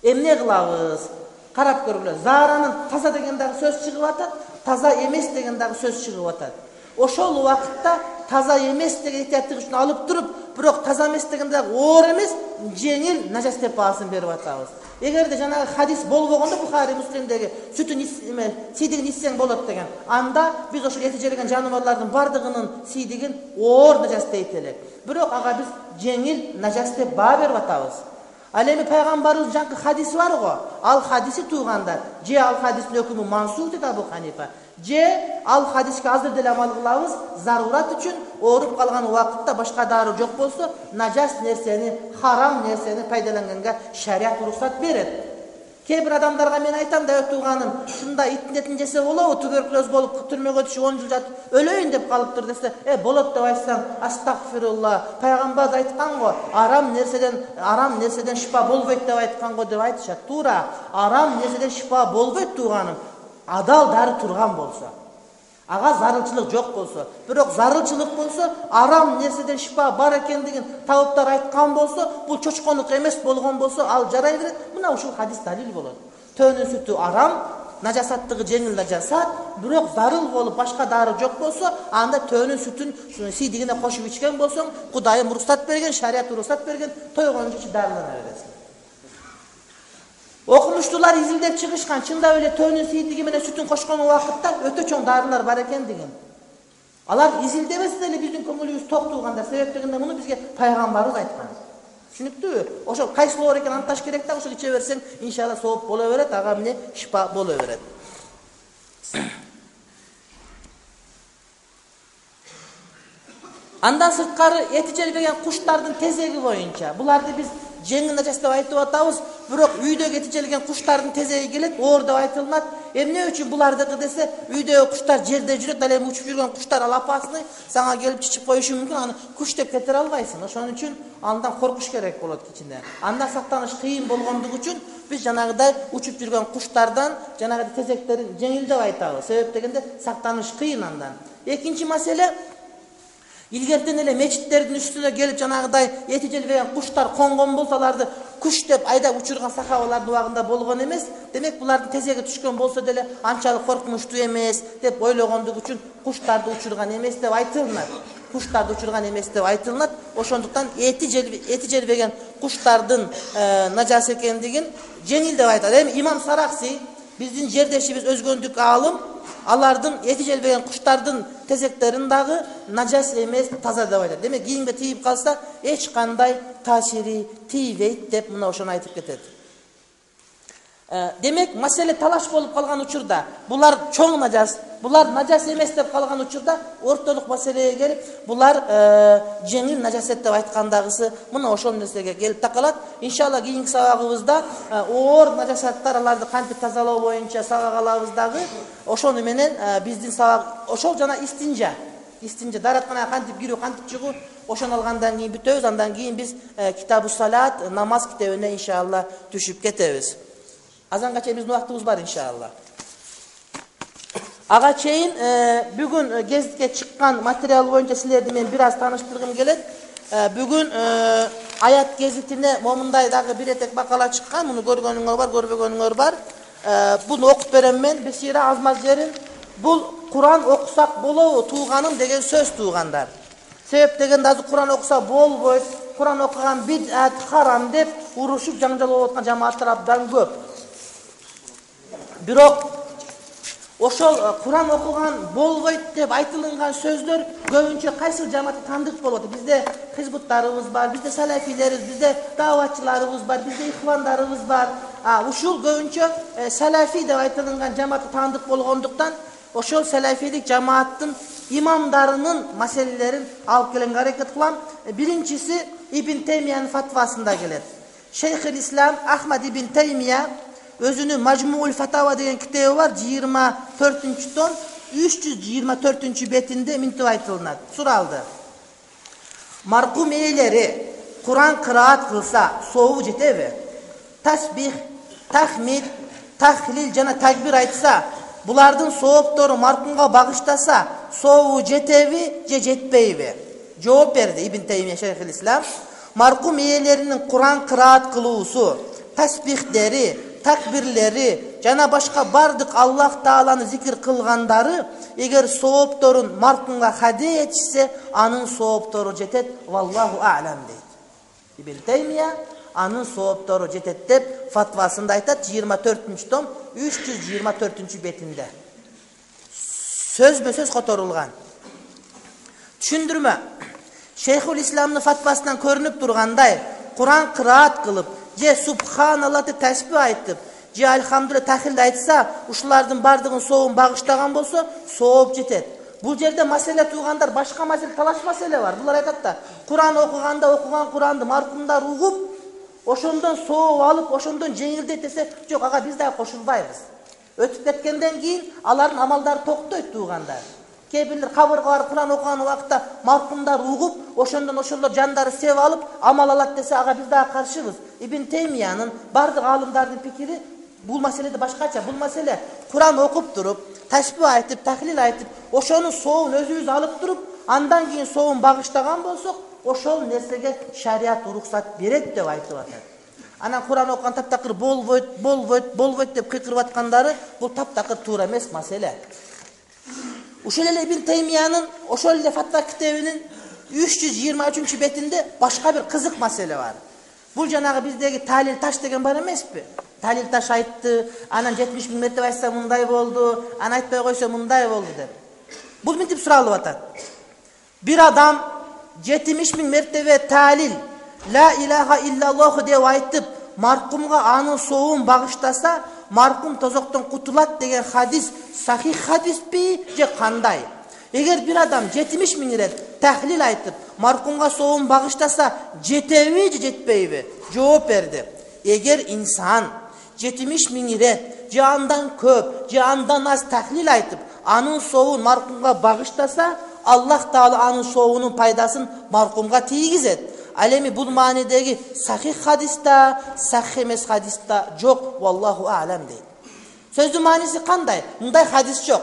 Эмне кылабыз? Карап көргүлө. Зааранын таза деген дагы сөз чыгып атат, таза эмес деген дагы сөз чыгып атат. Ошол убакытта таза эмес деген этияттык үчүн алып туруп, бирок таза эмес деген дагы оор эмес, жеңил нажас деп баасын берип атабыз. Эгерде жанагы хадис болбогондо Бухари Муслимдеги сүтүн эме сийдигин ичсең болот деген, анда биз ошол эти жерген жаныбарлардын бардыгынын сийдигин оор нажас дейт элек. Бирок ага биз жеңил нажас деп баа берип атабыз. Ал эми пайгамбарыбыз жанкы хадиси бар го. Ал хадиси туугандар. Же ал хадистин өкүмү мансух дейт Абу Ханифа. Же ал хадиске азыр деле амал кылабыз, зарурат үчүн ооруп калган убакытта башка дару жок болсо, нажас нерсени, харам нерсени пайдаланганга шарият уруксат берет. Кээ бир адамдарга мен айтам да, өтүүганым, ушундай иттин жесе болобу, туберкулез болуп түрмөгө түшүп он жыл жатып өлөйүн деп калыптыр десе, э болот деп айтсаң, астагфирулла, пайгамбар айткан го, арам нерседен арам нерседен шифа болбойт деп айткан го деп айтышат. Туура, арам нерседен шифа болбойт тууганым. Адал дары турган болсо, ага зарылчылык жок болсо, бирок зарылчылык болсо, арам нерседен шифа бар экендигин табыптар айткан болсо, бул чочконук эмес болгон болсо, ал жарай берет. Мына ушул хадис далил болот. Төөнүн сүтү арам, нажасаттыгы жеңил нажасат, бирок зарыл болуп башка дары жок болсо, анда төөнүн сүтүн сийдигине кошуп ичкен болсоң, Кудайым уруксат берген, шарият уруксат берген, тойгончу дарылана бересиң. Окумуштуулар изилдеп чыгышкан, чындап эле төөнүн сийдиги менен сүтүн кошкон убакытта өтө чоң дарылар бар экендигин. Алар изилдебесе деле биздин көңүлүбүз ток турганда, себеп дегенде муну бизге пайгамбарыбыз айткан. Түшүнүктүүбү? Ошо кайсылоо экен анташ керек да, ошо иче берсең, иншалла сооп боло берет, ага эмне шифа боло берет. Андан сырткары эти желбеген куштардын тезеги боюнча, буларды биз жеңил нажас деп айтып атабыз, бирок үйдөгү эти желген куштардын тезеги келет, оор деп айтылат. Эмне үчүн булардыкы десе, үйдөгү куштар жерде жүрөт, ал эми учуп жүргөн куштар ал апасыны сага келип чичип коюшу мүмкүн, аны куш деп кетире албайсың. Ошон үчүн андан коркуш керек болот кичине. Андан сактаныш кыйын болгондугу үчүн биз жанагыдай учуп жүргөн куштардан жанагы тезектерин жеңил деп айтабыз. Себеп дегенде сактаныш кыйын андан. Экинчи маселе, илгертен эле мечиттердин үстүнө келип жанагыдай эти желбеген куштар конгон болсо, аларды куш деп айдап учурган сахабалардын убагында болгон эмес. Демек булардын тезеги түшкөн болсо деле анчалык коркунучтуу эмес деп ойлогондугу үчүн куштарды учурган эмес деп айтылат. Куштарды учурган эмес деп айтылат. Ошондуктан эти эти желбеген куштардын нажасы экендигин жеңил деп айтат. Эми имам Саракси, биздин жердешибиз, өзгөндүк аалым, алардын эти желбеген куштардын тезектерин дагы нажас эмес, таза деп айтат. Демек кийимге тийип калса эч кандай таасири тийбейт деп мына ошону айтып кетет. Демек маселе талаш болуп калган учурда, булар чоң нажас, булар нажас эмес деп калган учурда ортолук маселеге келип, булар жеңил нажасет деп айткандагысы мына ошол нерсеге келип такалат. Иншалла кийинки сабагыбызда оор нажасаттар, аларды кантип тазалоо боюнча сабак алабыз дагы. Ошону менен биздин сабак ошол жана истинжа, истинжа даратканага кантип кирүү, кантип чыгуу, ошону алгандан кийин бүтөбүз. Андан кийин биз китабу салат, намаз китебине иншалла түшүп кетебиз. Азанга чейин биздин убактыбыз бар иншалла. Ага чейин бүгүн гезитке чыккан материал боюнча силерди мен бир аз тааныштыргым келет. Бүгүн аят гезитине момундай дагы бир этек макала чыккан. Муну көргөнүңөр бар, көрбөгөнүңөр бар. Буну окуп берем мен. Бесира азмаз жерин. Бул Куран окусак болобу тууганым деген сөз туугандар. Себеп дегенде азыр Куран окуса болбойт, Куран окуган бидат, харам деп урушуп жаңжал болуп аткан жамааттар абдан көп. Бирок ошол Куран окуган болбойт деп айтылган сөздөр көбүнчө кайсы жамаатка тандык болот. Бизде хизбуттарыбыз бар, бизде салафилерибиз, бизде даватчыларыбыз бар, бизде ихвандарыбыз бар. А ушул көбүнчө салафи деп айтылган жамаатка тандык болгондуктан ошол салафилик жамааттын имамдарынын маселелерин алып келенге аракет кылам. Биринчиси Ибн Таймиянын фатвасында келет. Шейхул Ислам Ахмад ибн Таймия өзүнүн Мажмуул Фатава деген китеби бар, жыйырма төртүнчү том, үч жүз жыйырма төртүнчү бетинде мынтип айтылат. Суралды. Маркум ээлери Куран кыраат кылса сообу жетеби? Тасбих, тахмид, тахлил жана такбир айтса, булардын сооптору маркумга багыштаса, сообу жетеби же жетпейби? Жооп берди Ибн Таймия Шейхул Ислам. Маркум ээлеринин Куран кыраат кылуусу, тасбихдери, такбирлери жана башка бардык Аллах Тааланы зикир кылгандары эгер соопторун маркумга хадия этишсе, анын сооптору жетет. Валлаху а'лам дейт. Ибн Таймия анын сооптору жетет деп фатвасында айтат, жыйырма төртүнчү том, үч жүз жыйырма төртүнчү бетинде. Сөзбө сөз которулган. Түшүндүрмө. Шейхул Исламдын фатвасынан көрүнүп тургандай, Куран кыраат кылып, же субханалла деп тасбih айтып, же альхамдулилла тахилд айтса, ушулардын бардыгын сообун багыштаган болсо, сооп жетет. Бул жерде маселе туугандар, башка маселе, талаш маселе бар. Булар айтат да, Куран окуганда окуган Куранды маркумдар угуп, ошондон сооп алып, ошондон жеңилдейт десе, жок, ага биз дагы кошулбайбыз. Өтүп кеткенден кийин алардын амалдары токтойт туугандар. Кээ бирлер кабырга барып Куран окуган убакта маркумдар угуп, ошондон ошолор жандары сеп алып, амал алат десе, ага биз дагы каршыбыз. Ибн Теймиянын бардык аалымдардын пикири бул маселеде башкача. Бул маселе Куран окуп туруп, ташбih айтып, тахлил айтып, ошонун соовун өзүбүз алып туруп, андан кийин соовун багыштаган болсок, ошол нерсеге шарият уруксат берет деп айтып атат. Анан Куран окуган таптакыр болбойт, болбойт, болбойт деп кыйкырып аткандары бул таптакыр туура эмес маселе. Ушул эле Ибн Теймиянын ошол эле фатва китебинин үч жүз жыйырма үчүнчү бетинде башка бир кызык маселе бар. Бул жанагы биздеги талил таш деген бар эмеспи? Талил таш айтты, анан жетимиш миң мертебе айтса мындай болду, анан айтпай койсо мындай болду деп. Бул мынтип суралып атат. Бир адам жетимиш миң мертебе талил, ла илаха иллаллаху деп айтып, маркумга анын соовун багыштаса, маркум тозоктон кутулат деген хадис сахих хадиспи же кандай? Эгер бир адам жетимиш миң ирет тахлил айтып, маркумга соовун багыштаса, жетеби же жетпейби? Жооп берди. Эгер инсан жетимиш миң ирет же андан көп, же андан аз тахлил айтып, анын соовун маркумга багыштаса, Аллах Таала анын соовунун пайдасын маркумга тийгизет. Ал эми бул маанидеги сахих хадиста, сахих эмес хадиста жок, валлаху а'лам дейт. Сөздүн мааниси кандай? Мындай хадис жок.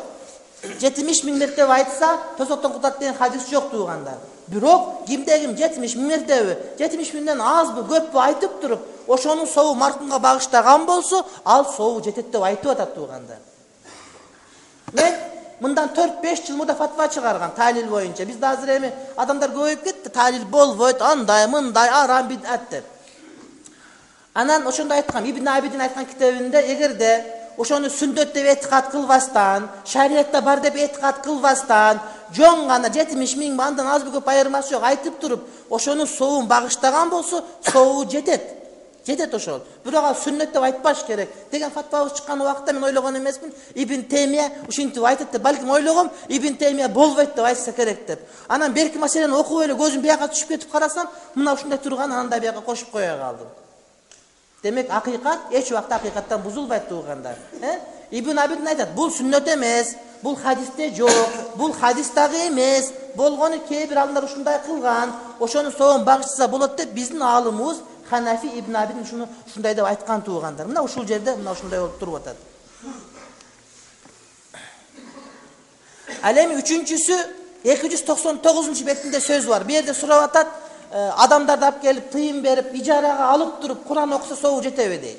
жетимиш миң мертебе айтса, тозоктон кутат деген хадис жок туугандар. Бирок кимде ким жетимиш миң мертебе, жетимиш миңден азбы, көппү айтып туруп, ошонун соову маркумга багыштаган болсо, ал соову жетет деп айтып атат туугандар. Мен мындан төрт беш жыл мурда фатва чыгарган талил боюнча. Бизде азыр эми адамдар көбөйүп кетти. Талил болбойт, андай, мындай, арам, бидат деп. Анан ошондо айткам, Ибн Абидин айткан китебинде, эгерде ошону сүннөт деп этикад кылбастан, шариятта бар деп этикад кылбастан, жон гана жетимиш миң андан азбы көп айырмасы жок айтып туруп, ошонун соовун багыштаган болсо, соову жетет. Жетет ошол. Бирок ал сүннөт деп айтпаш керек деген фатвабыз чыккан убакта мен ойлогон эмесмин. Ибн Теймия ушинтип айтат деп, балким ойлогом, Ибн Теймия болбойт деп айтса керек деп. Анан берки маселени окуп эле көзүм бияка түшүп кетип карасам, мына ушундай турган, анан да бияка кошуп кое калдым. Демек акыйкат эч убакта акыйкаттан бузулбайт туугандар. Э? Ибн Абидин айтат, бул сүннөт эмес, бул хадисте жок, бул хадис дагы эмес. Болгону кээ бир алымдар ушундай кылган, ошонун соовун багыштаса болот деп биздин аалымыбыз Ханафи Ибн Абидин ушуну ушундай деп айткан туугандар. Мына ушул жерде мына ушундай болуп туруп атат. Ал эми үчүнчүсү эки жүз токсон тогузунчу бетинде сөз бар. Бу жерде сурап атат, адамдарды алып келип тыйын берип, ижарага алып туруп Куран окуса соову жетеби дейт.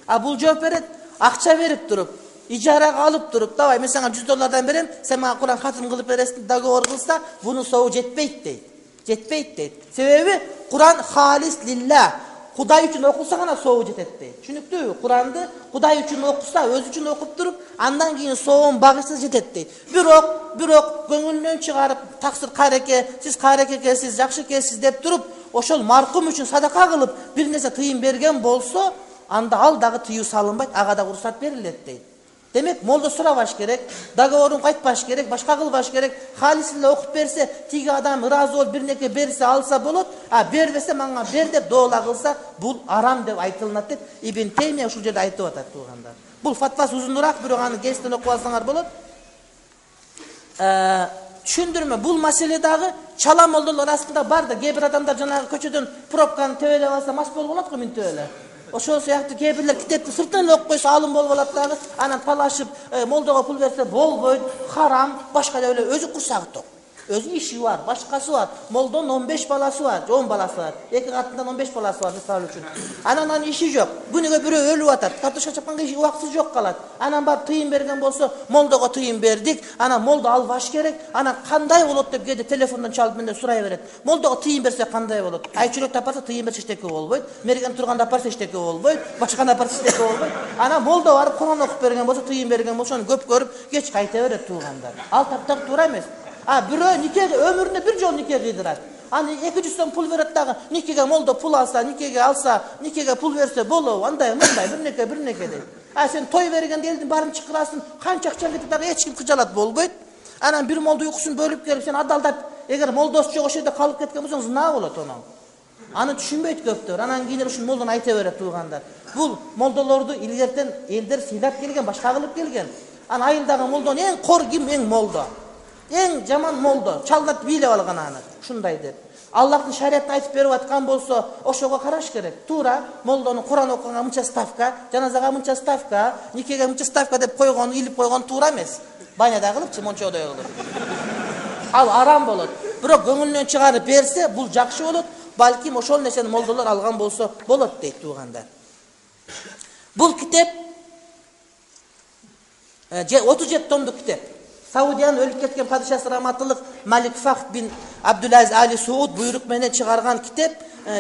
А бул жооп берет, акча берип туруп, ижарага алып туруп, давай мен сага жүз доллардан берем, сен мага Куран хатым кылып бересиң, договор кылса, бунун соову жетпейт дейт. Жетпейт дейт. Себеби Куран халис лилла. Кудай үчүн окулса гана соову жетет дейт. Түшүнүктүүбү? Куранды Кудай үчүн окуса, өзү үчүн окуп туруп, андан кийин соовун багышса жетет дейт. Бирок, бирок көңүлүнөн чыгарып, таксир кареке, сиз кареке экенсиз, жакшы экенсиз деп туруп, ошол маркум үчүн садака кылып, бир нерсе тыйын берген болсо, анда ал дагы тыюу салынбайт, ага дагы уруксат берилет дейт. Демек, молдо сурабаш керек, договорун кайтпаш керек, башка кылбаш керек. Халис эле окуп берсе, тиги адам ыраазы болуп бир нерсе берсе алса болот, а бербесе мага бер деп доола кылса, бул арам деп айтылат деп Ибн Теймия ушул жерде айтып атат туугандар. Бул фатвасы узунураак, бирок аны кесиптен окуп алсаңар болот. Түшүндүрмө, бул маселе дагы чала молдолор арасында бар да, кээ бир адамдар жанагы көчөдөн пробканы тебелеп алса мас болуп калат го мынтип эле. Ошол сыяктуу кээ бирлер китепти сыртынан окуп койсо алым болуп алат дагы, анан талашып, молдого пул берсе болбойт, харам, башка деп эле өзү курсагы ток. Өзү иши бар, башкасы бар. Молдонун он беш баласы бар, он баласы бар. Эки катындан он беш баласы бар мисалы үчүн. Анан анын иши жок. Күнүгө бирөө өлүп атат. Картошка чапканга иши убактысы жок калат. Анан барып тыйын берген болсо, молдого тыйын бердик. Анан молдо албаш керек. Анан кандай болот деп кээде телефондон чалып менден сурай берет. Молдого тыйын берсе кандай болот? Айчүрөктү апарса тыйын берсе эчтеке болбойт. Мерген турганда апарса эчтеке болбойт. Башканы апарса эчтеке болбойт. Анан молдо барып Куран окуп берген болсо, тыйын берген болсо, аны көп көрүп, кеч кайта берет туугандар. Ал таптак туура эмес. А бирөө никеге өмүрүндө бир жолу нике кыйдырат. Аны эки жүз сом пул берет дагы, никеге молдо пул алса, никеге алса, никеге пул берсе болобу? Андай, мындай, бир неке, бир неке дейт. А сен той бергенде элдин баарын чакырасың, канча акча кетип дагы эч ким кыжалат болбойт. Анан бир молдо уйкусун бөлүп келип, сен адалдап, эгер молдосу жок ошол жерде калып кеткен болсоң, зына болот онун. Аны түшүнбөйт көптөр. Анан кийин ушул молдон айта берет туугандар. Бул молдолорду илгертен элдер сыйлап келген, башка кылып келген. Анан айылдагы молдон эң кор ким? Эң молдо. Эң жаман молдо. Чалдат бийлеп алган аны. Ушундай деп. Аллахтын шариятын айтып берип аткан болсо, ошого караш керек. Туура молдонун Куран окуганга мынча ставка, жаназага мынча ставка, никеге мынча ставка деп койгон, илип койгон туура эмес. Баняда кылыпчы, мончодой кылып. Ал арам болот. Бирок көңүлүнөн чыгарып берсе, бул жакшы болот. Балким ошол нерсени молдолор алган болсо болот дейт туугандар. Бул китеп отуз жети томдук китеп. Саудиянын өлүп кеткен падышасы раматылык Малик Фахд бин Абдулазиз Али Сууд буйрук менен чыгарган китеп,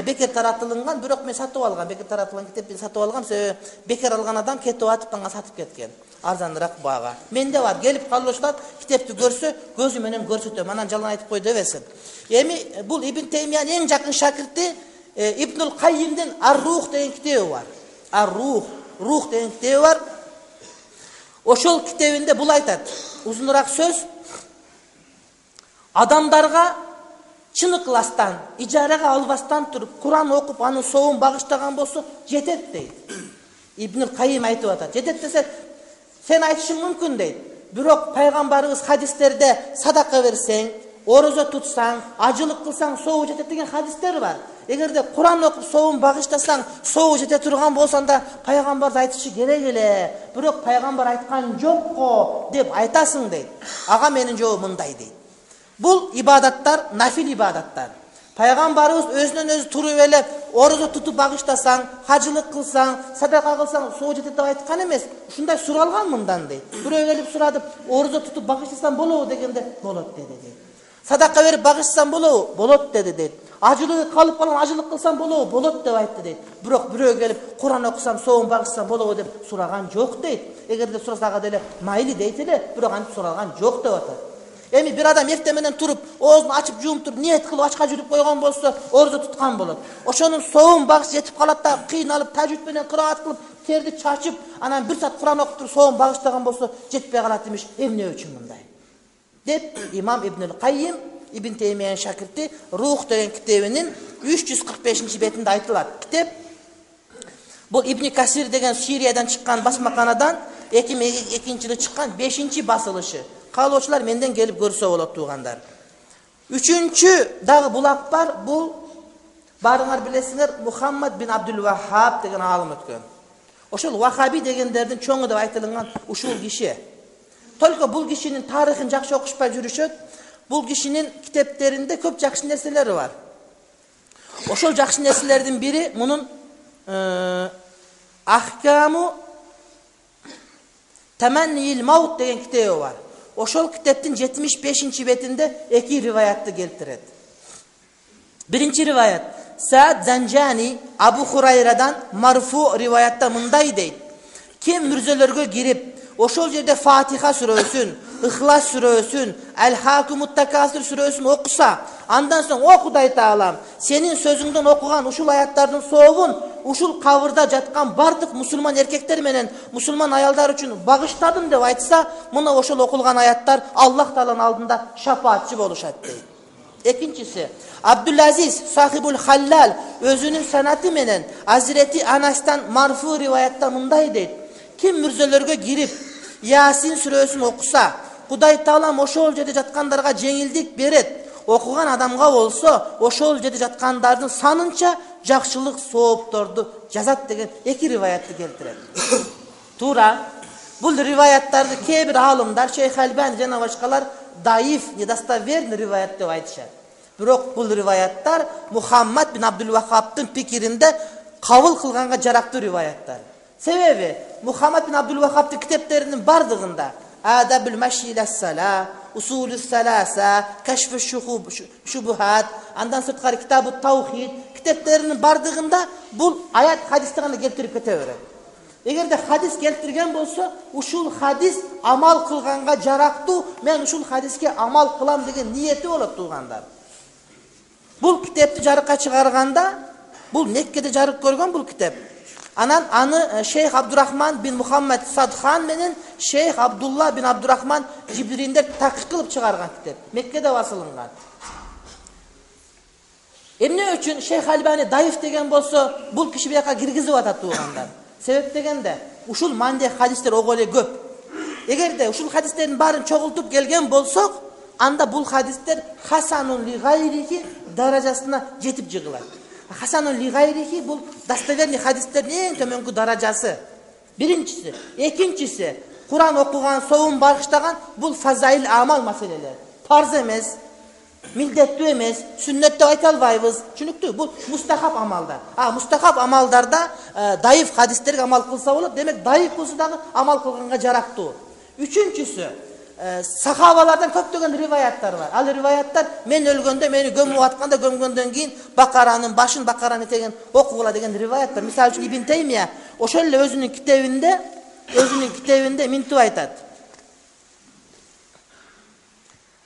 бекер таратылган, бирок мен сатып алгам. Бекер таратылган китепти сатып алгам, себеби бекер алган адам кетип атып аңа сатып кеткен. Арзаныраак баага. Менде бар, келип калыштат, китепти көрсө, көзү менен көрсөтөм. Анан жалган айтып кой дебесин. Эми бул Ибн Теймиянын эң жакын шакирти Ибнул Каййимдин Ар-Рух деген китеби бар. Ар-Рух, Рух деген китеби бар. Ошол китебинде бул айтат. Узунураак сөз. Адамдарга чын ыкластан, ижарага албастан туруп, Куран окуп, анын соовун багыштаган болсо, жетет дейт. Ибнул Каййим айтып атат. Жетет десе, сен айтышың мүмкүн дейт. Бирок пайгамбарыбыз хадистерде садака берсең, орозо тутсаң, ажылык кылсаң, соову жетет деген хадистер бар. Эгерде Куран окуп соовун багыштасаң, соову жете турган болсоң пайгамбар айтышы керек эле. Бирок пайгамбар айткан жок го деп айтасың дейт. Ага менин жообум мындай дейт. Бул ибадаттар нафил ибадаттар. Пайгамбарыбыз өзүнөн өзү туруп элеп, орозо тутуп багыштасаң, хажылык кылсаң, садака кылсаң, соову жетет деп айткан эмес. Ушундай суралган мындан дейт. Бирөө келип сурады, орозо тутуп багыштасаң болобу дегенде, болот деди дейт. Садака берип багыштасаң болобу? Болот деди дейт. Ажылык калып калган ажылык кылсаң болобу? Болот деп айтты дейт. Бирок бирөө келип Куран окусам, соовун багыштасам болобу деп сураган жок дейт. Эгерде сураса ага деле майли дейт эле, бирок антип суралган жок деп атат. Эми бир адам эртең менен туруп, оозун ачып жууп туруп, ниет кылып ачка жүрүп койгон болсо, орозо туткан болот. Ошонун соовун багыш жетип калат да, кыйналып, тажвид менен кыраат кылып, терди чачып, анан бир саат Куран окуп туруп, соовун багыштаган болсо, жетпей калат имиш. Эмне үчүн мындай? Деп имам Ибнул Каййим, Ибн Теймиянын шакирти, Рух деген китебинин үч жүз кырк бешинчи бетинде айтылат. Китеп бул Ибн Касир деген Сириядан чыккан басмаканадан эки миң экинчи жылы чыккан бешинчи басылышы. Каалоочулар менден келип көрсө болот туугандар. Үчүнчү дагы булак бар. Бул барыңар билесиңер, Мухаммад бин Абдул Вахаб деген аалым өткөн. Ошол Вахаби дегендердин чоңу деп айтылган ушул киши. Только бул кишинин тарыхын жакшы окушпай жүрүшөт. Бул кишинин китептеринде көп жакшы нерселери бар. Ошол жакшы нерселердин бири мунун Ахкаму Таманнил Маут деген китеби бар. Ошол китептин жетимиш бешинчи бетинде эки риваятты келтирет. Биринчи риваят Саад Занжани Абу Хурайрадан марфу риваятта мындай дейт. Ким мүрзөлөргө кирип, ошол жерде Фатиха сүрөсүн, Ихлас сүрөсүн, Әл-Хакумут Такасир сүрөсүн окуса, андан соң о Кудай Таалам, сенин сөзүңдөн окуган ушул аяттардын соовун ушул кабырда жаткан бардык мусулман эркектер менен мусулман аялдар үчүн багыштадым деп айтса, мына ошол окулган аяттар Аллах Тааланын алдында шафаатчы болушат дейт. Экинчиси, Абдулазиз Сахибул Халлал өзүнүн санаты менен Азирети Анастан марфу риваятта мындай дейт. Ким мүрзөлөргө кирип, Ясин сүрөсүн окуса, Кудай Таалам ошол жерде жаткандарга жеңилдик берет. Окуган адамга болсо, ошол жерде жаткандардын санынча жакшылык соопторду жазат деген эки риваятты келтирет. Туура. Бул риваяттарды кээ бир аалымдар, Шейх Албани жана башкалар даиф, недостоверный риваят деп айтышат. Бирок бул риваяттар Мухаммад бин Абдул Вахабтын пикиринде кабыл кылганга жарактуу риваяттар. Себеби Мухаммад бин Абдул Вахабтын китептеринин бардыгында Адабул Маши ила-сала, Усулус саласа, Кашфу шубухат, андан сырткары Китабу таухид китептеринин бардыгында бул аят хадисти гана келтирип кете берет. Эгерде хадис келтирген болсо, ушул хадис амал кылганга жарактуу, мен ушул хадиске амал кылам деген ниети болот туугандар. Бул китепти жарыкка чыгарганда, бул Меккеде жарык көргөн бул китеп. Анан аны Шейх Абдурахман бин Мухаммад Садхан менен Шейх Абдулла бин Абдурахман Жибриндер такык кылып чыгарган китеп. Меккеде басылынган. Эмне үчүн Шейх Альбани даиф деген болсо, бул киши бияка киргизип атат туугандар. Себеп дегенде, ушул мандек хадистер ого эле көп. Эгерде ушул хадистердин баарын чогултуп келген болсок, анда бул хадистер хасанун ли гайрихи даражасына жетип жыгылат. Хасанун ли гайрихи бул достоверный хадистердин эң төмөнкү даражасы. Биринчиси, экинчиси, Куран окуган, соом багыштаган бул фазаил амал маселелер. Фарз эмес, милдеттүү эмес, сүннөт деп айта албайбыз. Түшүнүктүү? Бул мустахаб амалдар. А мустахаб амалдарда э, даиф хадистерге амал кылса болот. Демек даиф болсо дагы амал кылганга жарактуу. Үчүнчүсү, э, сахабалардан көптөгөн риваяттар бар. Ал риваяттар мен өлгөндө, мени көмүп атканда, көмгөндөн кийин Бакаранын башын, Бакараны теген окугула деген риваят бар. Мисалы үчүн Ибн Таймия ошол эле өзүнүн китебинде, өзүнүн китебинде минтип айтат.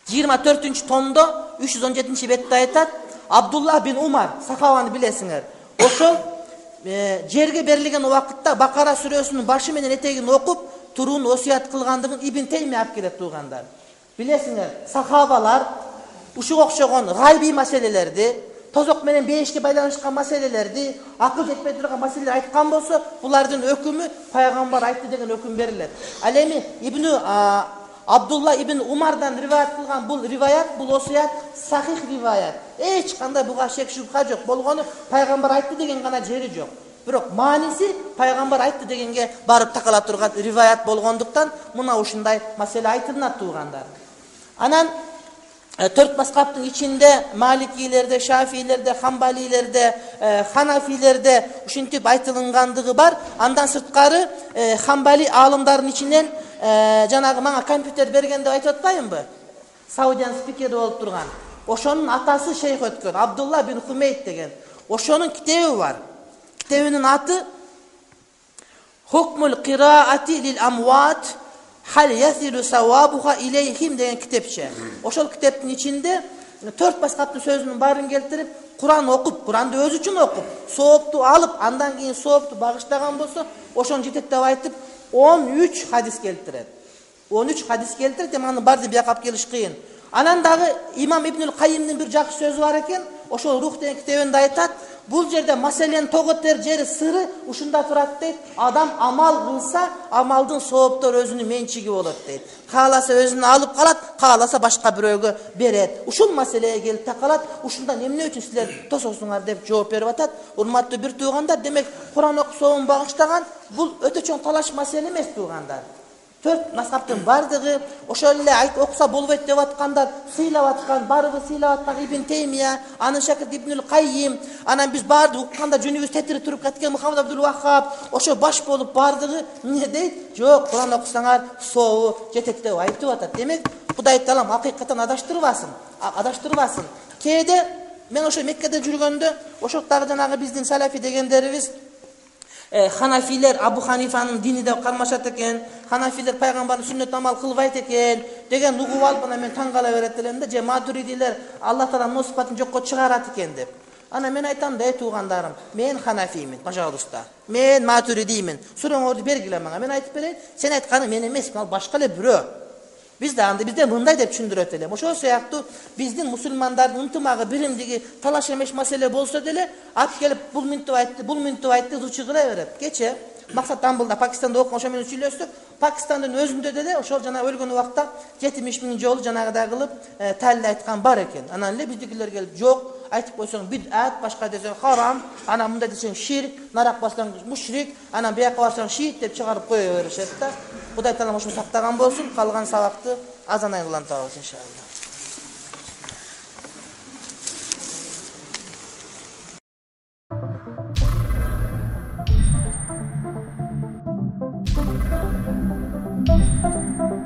жыйырма төртүнчү томдо үч жүз он жетинчи бетте айтат, Абдулла бин Умар, сахабаны билесиңер. Ошол э, жерге берилген убакытта Бакара сүрөсүнүн башы менен этегин окуп, туруун осуят кылгандыгын Ибн Таймия алып келет туугандар. Билесиңер, сахабалар ушуга окшогон гайби маселелерди, тозок менен бейишке байланышкан маселелерди, акыл жетпей турган маселелер айткан болсо, булардын өкүмү пайгамбар айтты деген өкүм берилет. Ал эми Ибн Абдулла ибн Умардан риваят кылган бул риваят, бул осуят сахих риваят. Эч кандай буга шек шубха жок. Болгону пайгамбар айтты деген гана жери жок. Бирок мааниси пайгамбар айтты дегенге барып такала турган риваят болгондуктан мына ушундай маселе айтылат туугандар. Анан төрт мазхабтын ичинде Маликилерде, Шафилерде, Хамбалилерде, Ханафилерде ушинтип айтылгандыгы бар. Андан сырткары Хамбали аалымдардын ичинен жанагы мага компьютер берген деп айтып атпаймынбы? Саудиян спикери болуп турган. Ошонун атасы шейх өткөн, Абдулла бин Хумейд деген. Ошонун китеби бар. Китебинин аты Хукмул кираати лил амват хал ясилу савабуха илейхим деген китепче. Ошол китептин ичинде төрт мазхабтын сөзүнүн баарын келтирип, Куран окуп, Куранды өзү үчүн окуп, соопту алып, андан кийин соопту багыштаган болсо, ошону жетет деп айтып, он үч хадис келтирет. он үч хадис келтирет, эми анын баарын бияка алып келиш кыйын. Анан дагы имам Ибнул Кайимдин бир жакшы сөзү бар экен. Ошол Рух деген китебинде айтат, бул жерде маселенин тоготер жери сыры ушунда турат дейт. Адам амал кылса, амалдын сооптору өзүнүн менчиги болот дейт. Кааласа өзүнө алып калат, кааласа башка бирөөгө берет. Ушул маселеге келип такалат. Ушундан эмне үчүн силер тососуңар деп жооп берип атат. Урматтуу бир туугандар, демек Куран окусоон багыштаган бул өтө чоң талаш маселе эмес туугандар. Төрт мазхабтын бардыгы ошол эле айт окуса болбойт деп аткандар, сыйлап аткан, барыбы сыйлап аткан Ибн Таймия, анын шакирти Ибнул Кайим, анан биз баардык укканда жүнүбүз тетирип туруп кеткен Мухаммад Абдул Ваххаб, ошо баш болуп бардыгы эмне дейт? Жок, Куран окусаңар сообу жетет деп айтып атат. Демек, Кудай Таалам акыйкаттан адаштырбасын, адаштырбасын. Кээде мен ошо Меккеде жүргөндө, ошол дагы жанагы биздин салафи дегендерибиз Ханафилер Абу Ханифанын дини деп кармашат экен, Ханафилер пайгамбардын сүннөт амал кылбайт экен деген угуп алып, ана мен таң кала берет элем да, же Матуридилер Аллах Таала мына сыпатын жокко чыгарат экен деп. Ана мен айтам да, эй туугандарым, мен Ханафиймин, пожалуйста. Мен Матуридиймин. Сурооңорду бергиле мага. Мен айтып берейин, сен айтканың мен эмес, ал башка эле бирөө. Биз да анда бизде мындай деп түшүндүрөт элем. Ошол сыяктуу биздин мусулмандардын ынтымагы, биримдиги талаш эмес маселе болсо деле, алып келип бул минтип айтты, бул минтип айтты, зучу кыла берет. Кече Максат Тамбылда Пакистанда окуган, ошо менен сүйлөштүк. Пакистандын өзүндө деле ошол жана өлгөн убакта жетимиш миң жолу жанагыдай кылып талил айткан бар экен. Анан эле биздикилер келип, жок, айтып койсоң бид'ат, башка десең харам, анан мындай десең ширк, нарак бассаң мушрик, анан бияка барсаң шиит деп чыгарып кое беришет да. Кудай Таалам ошону сактаган болсун. Калган сабакты азан айын улантабыз иншалла. Thank you.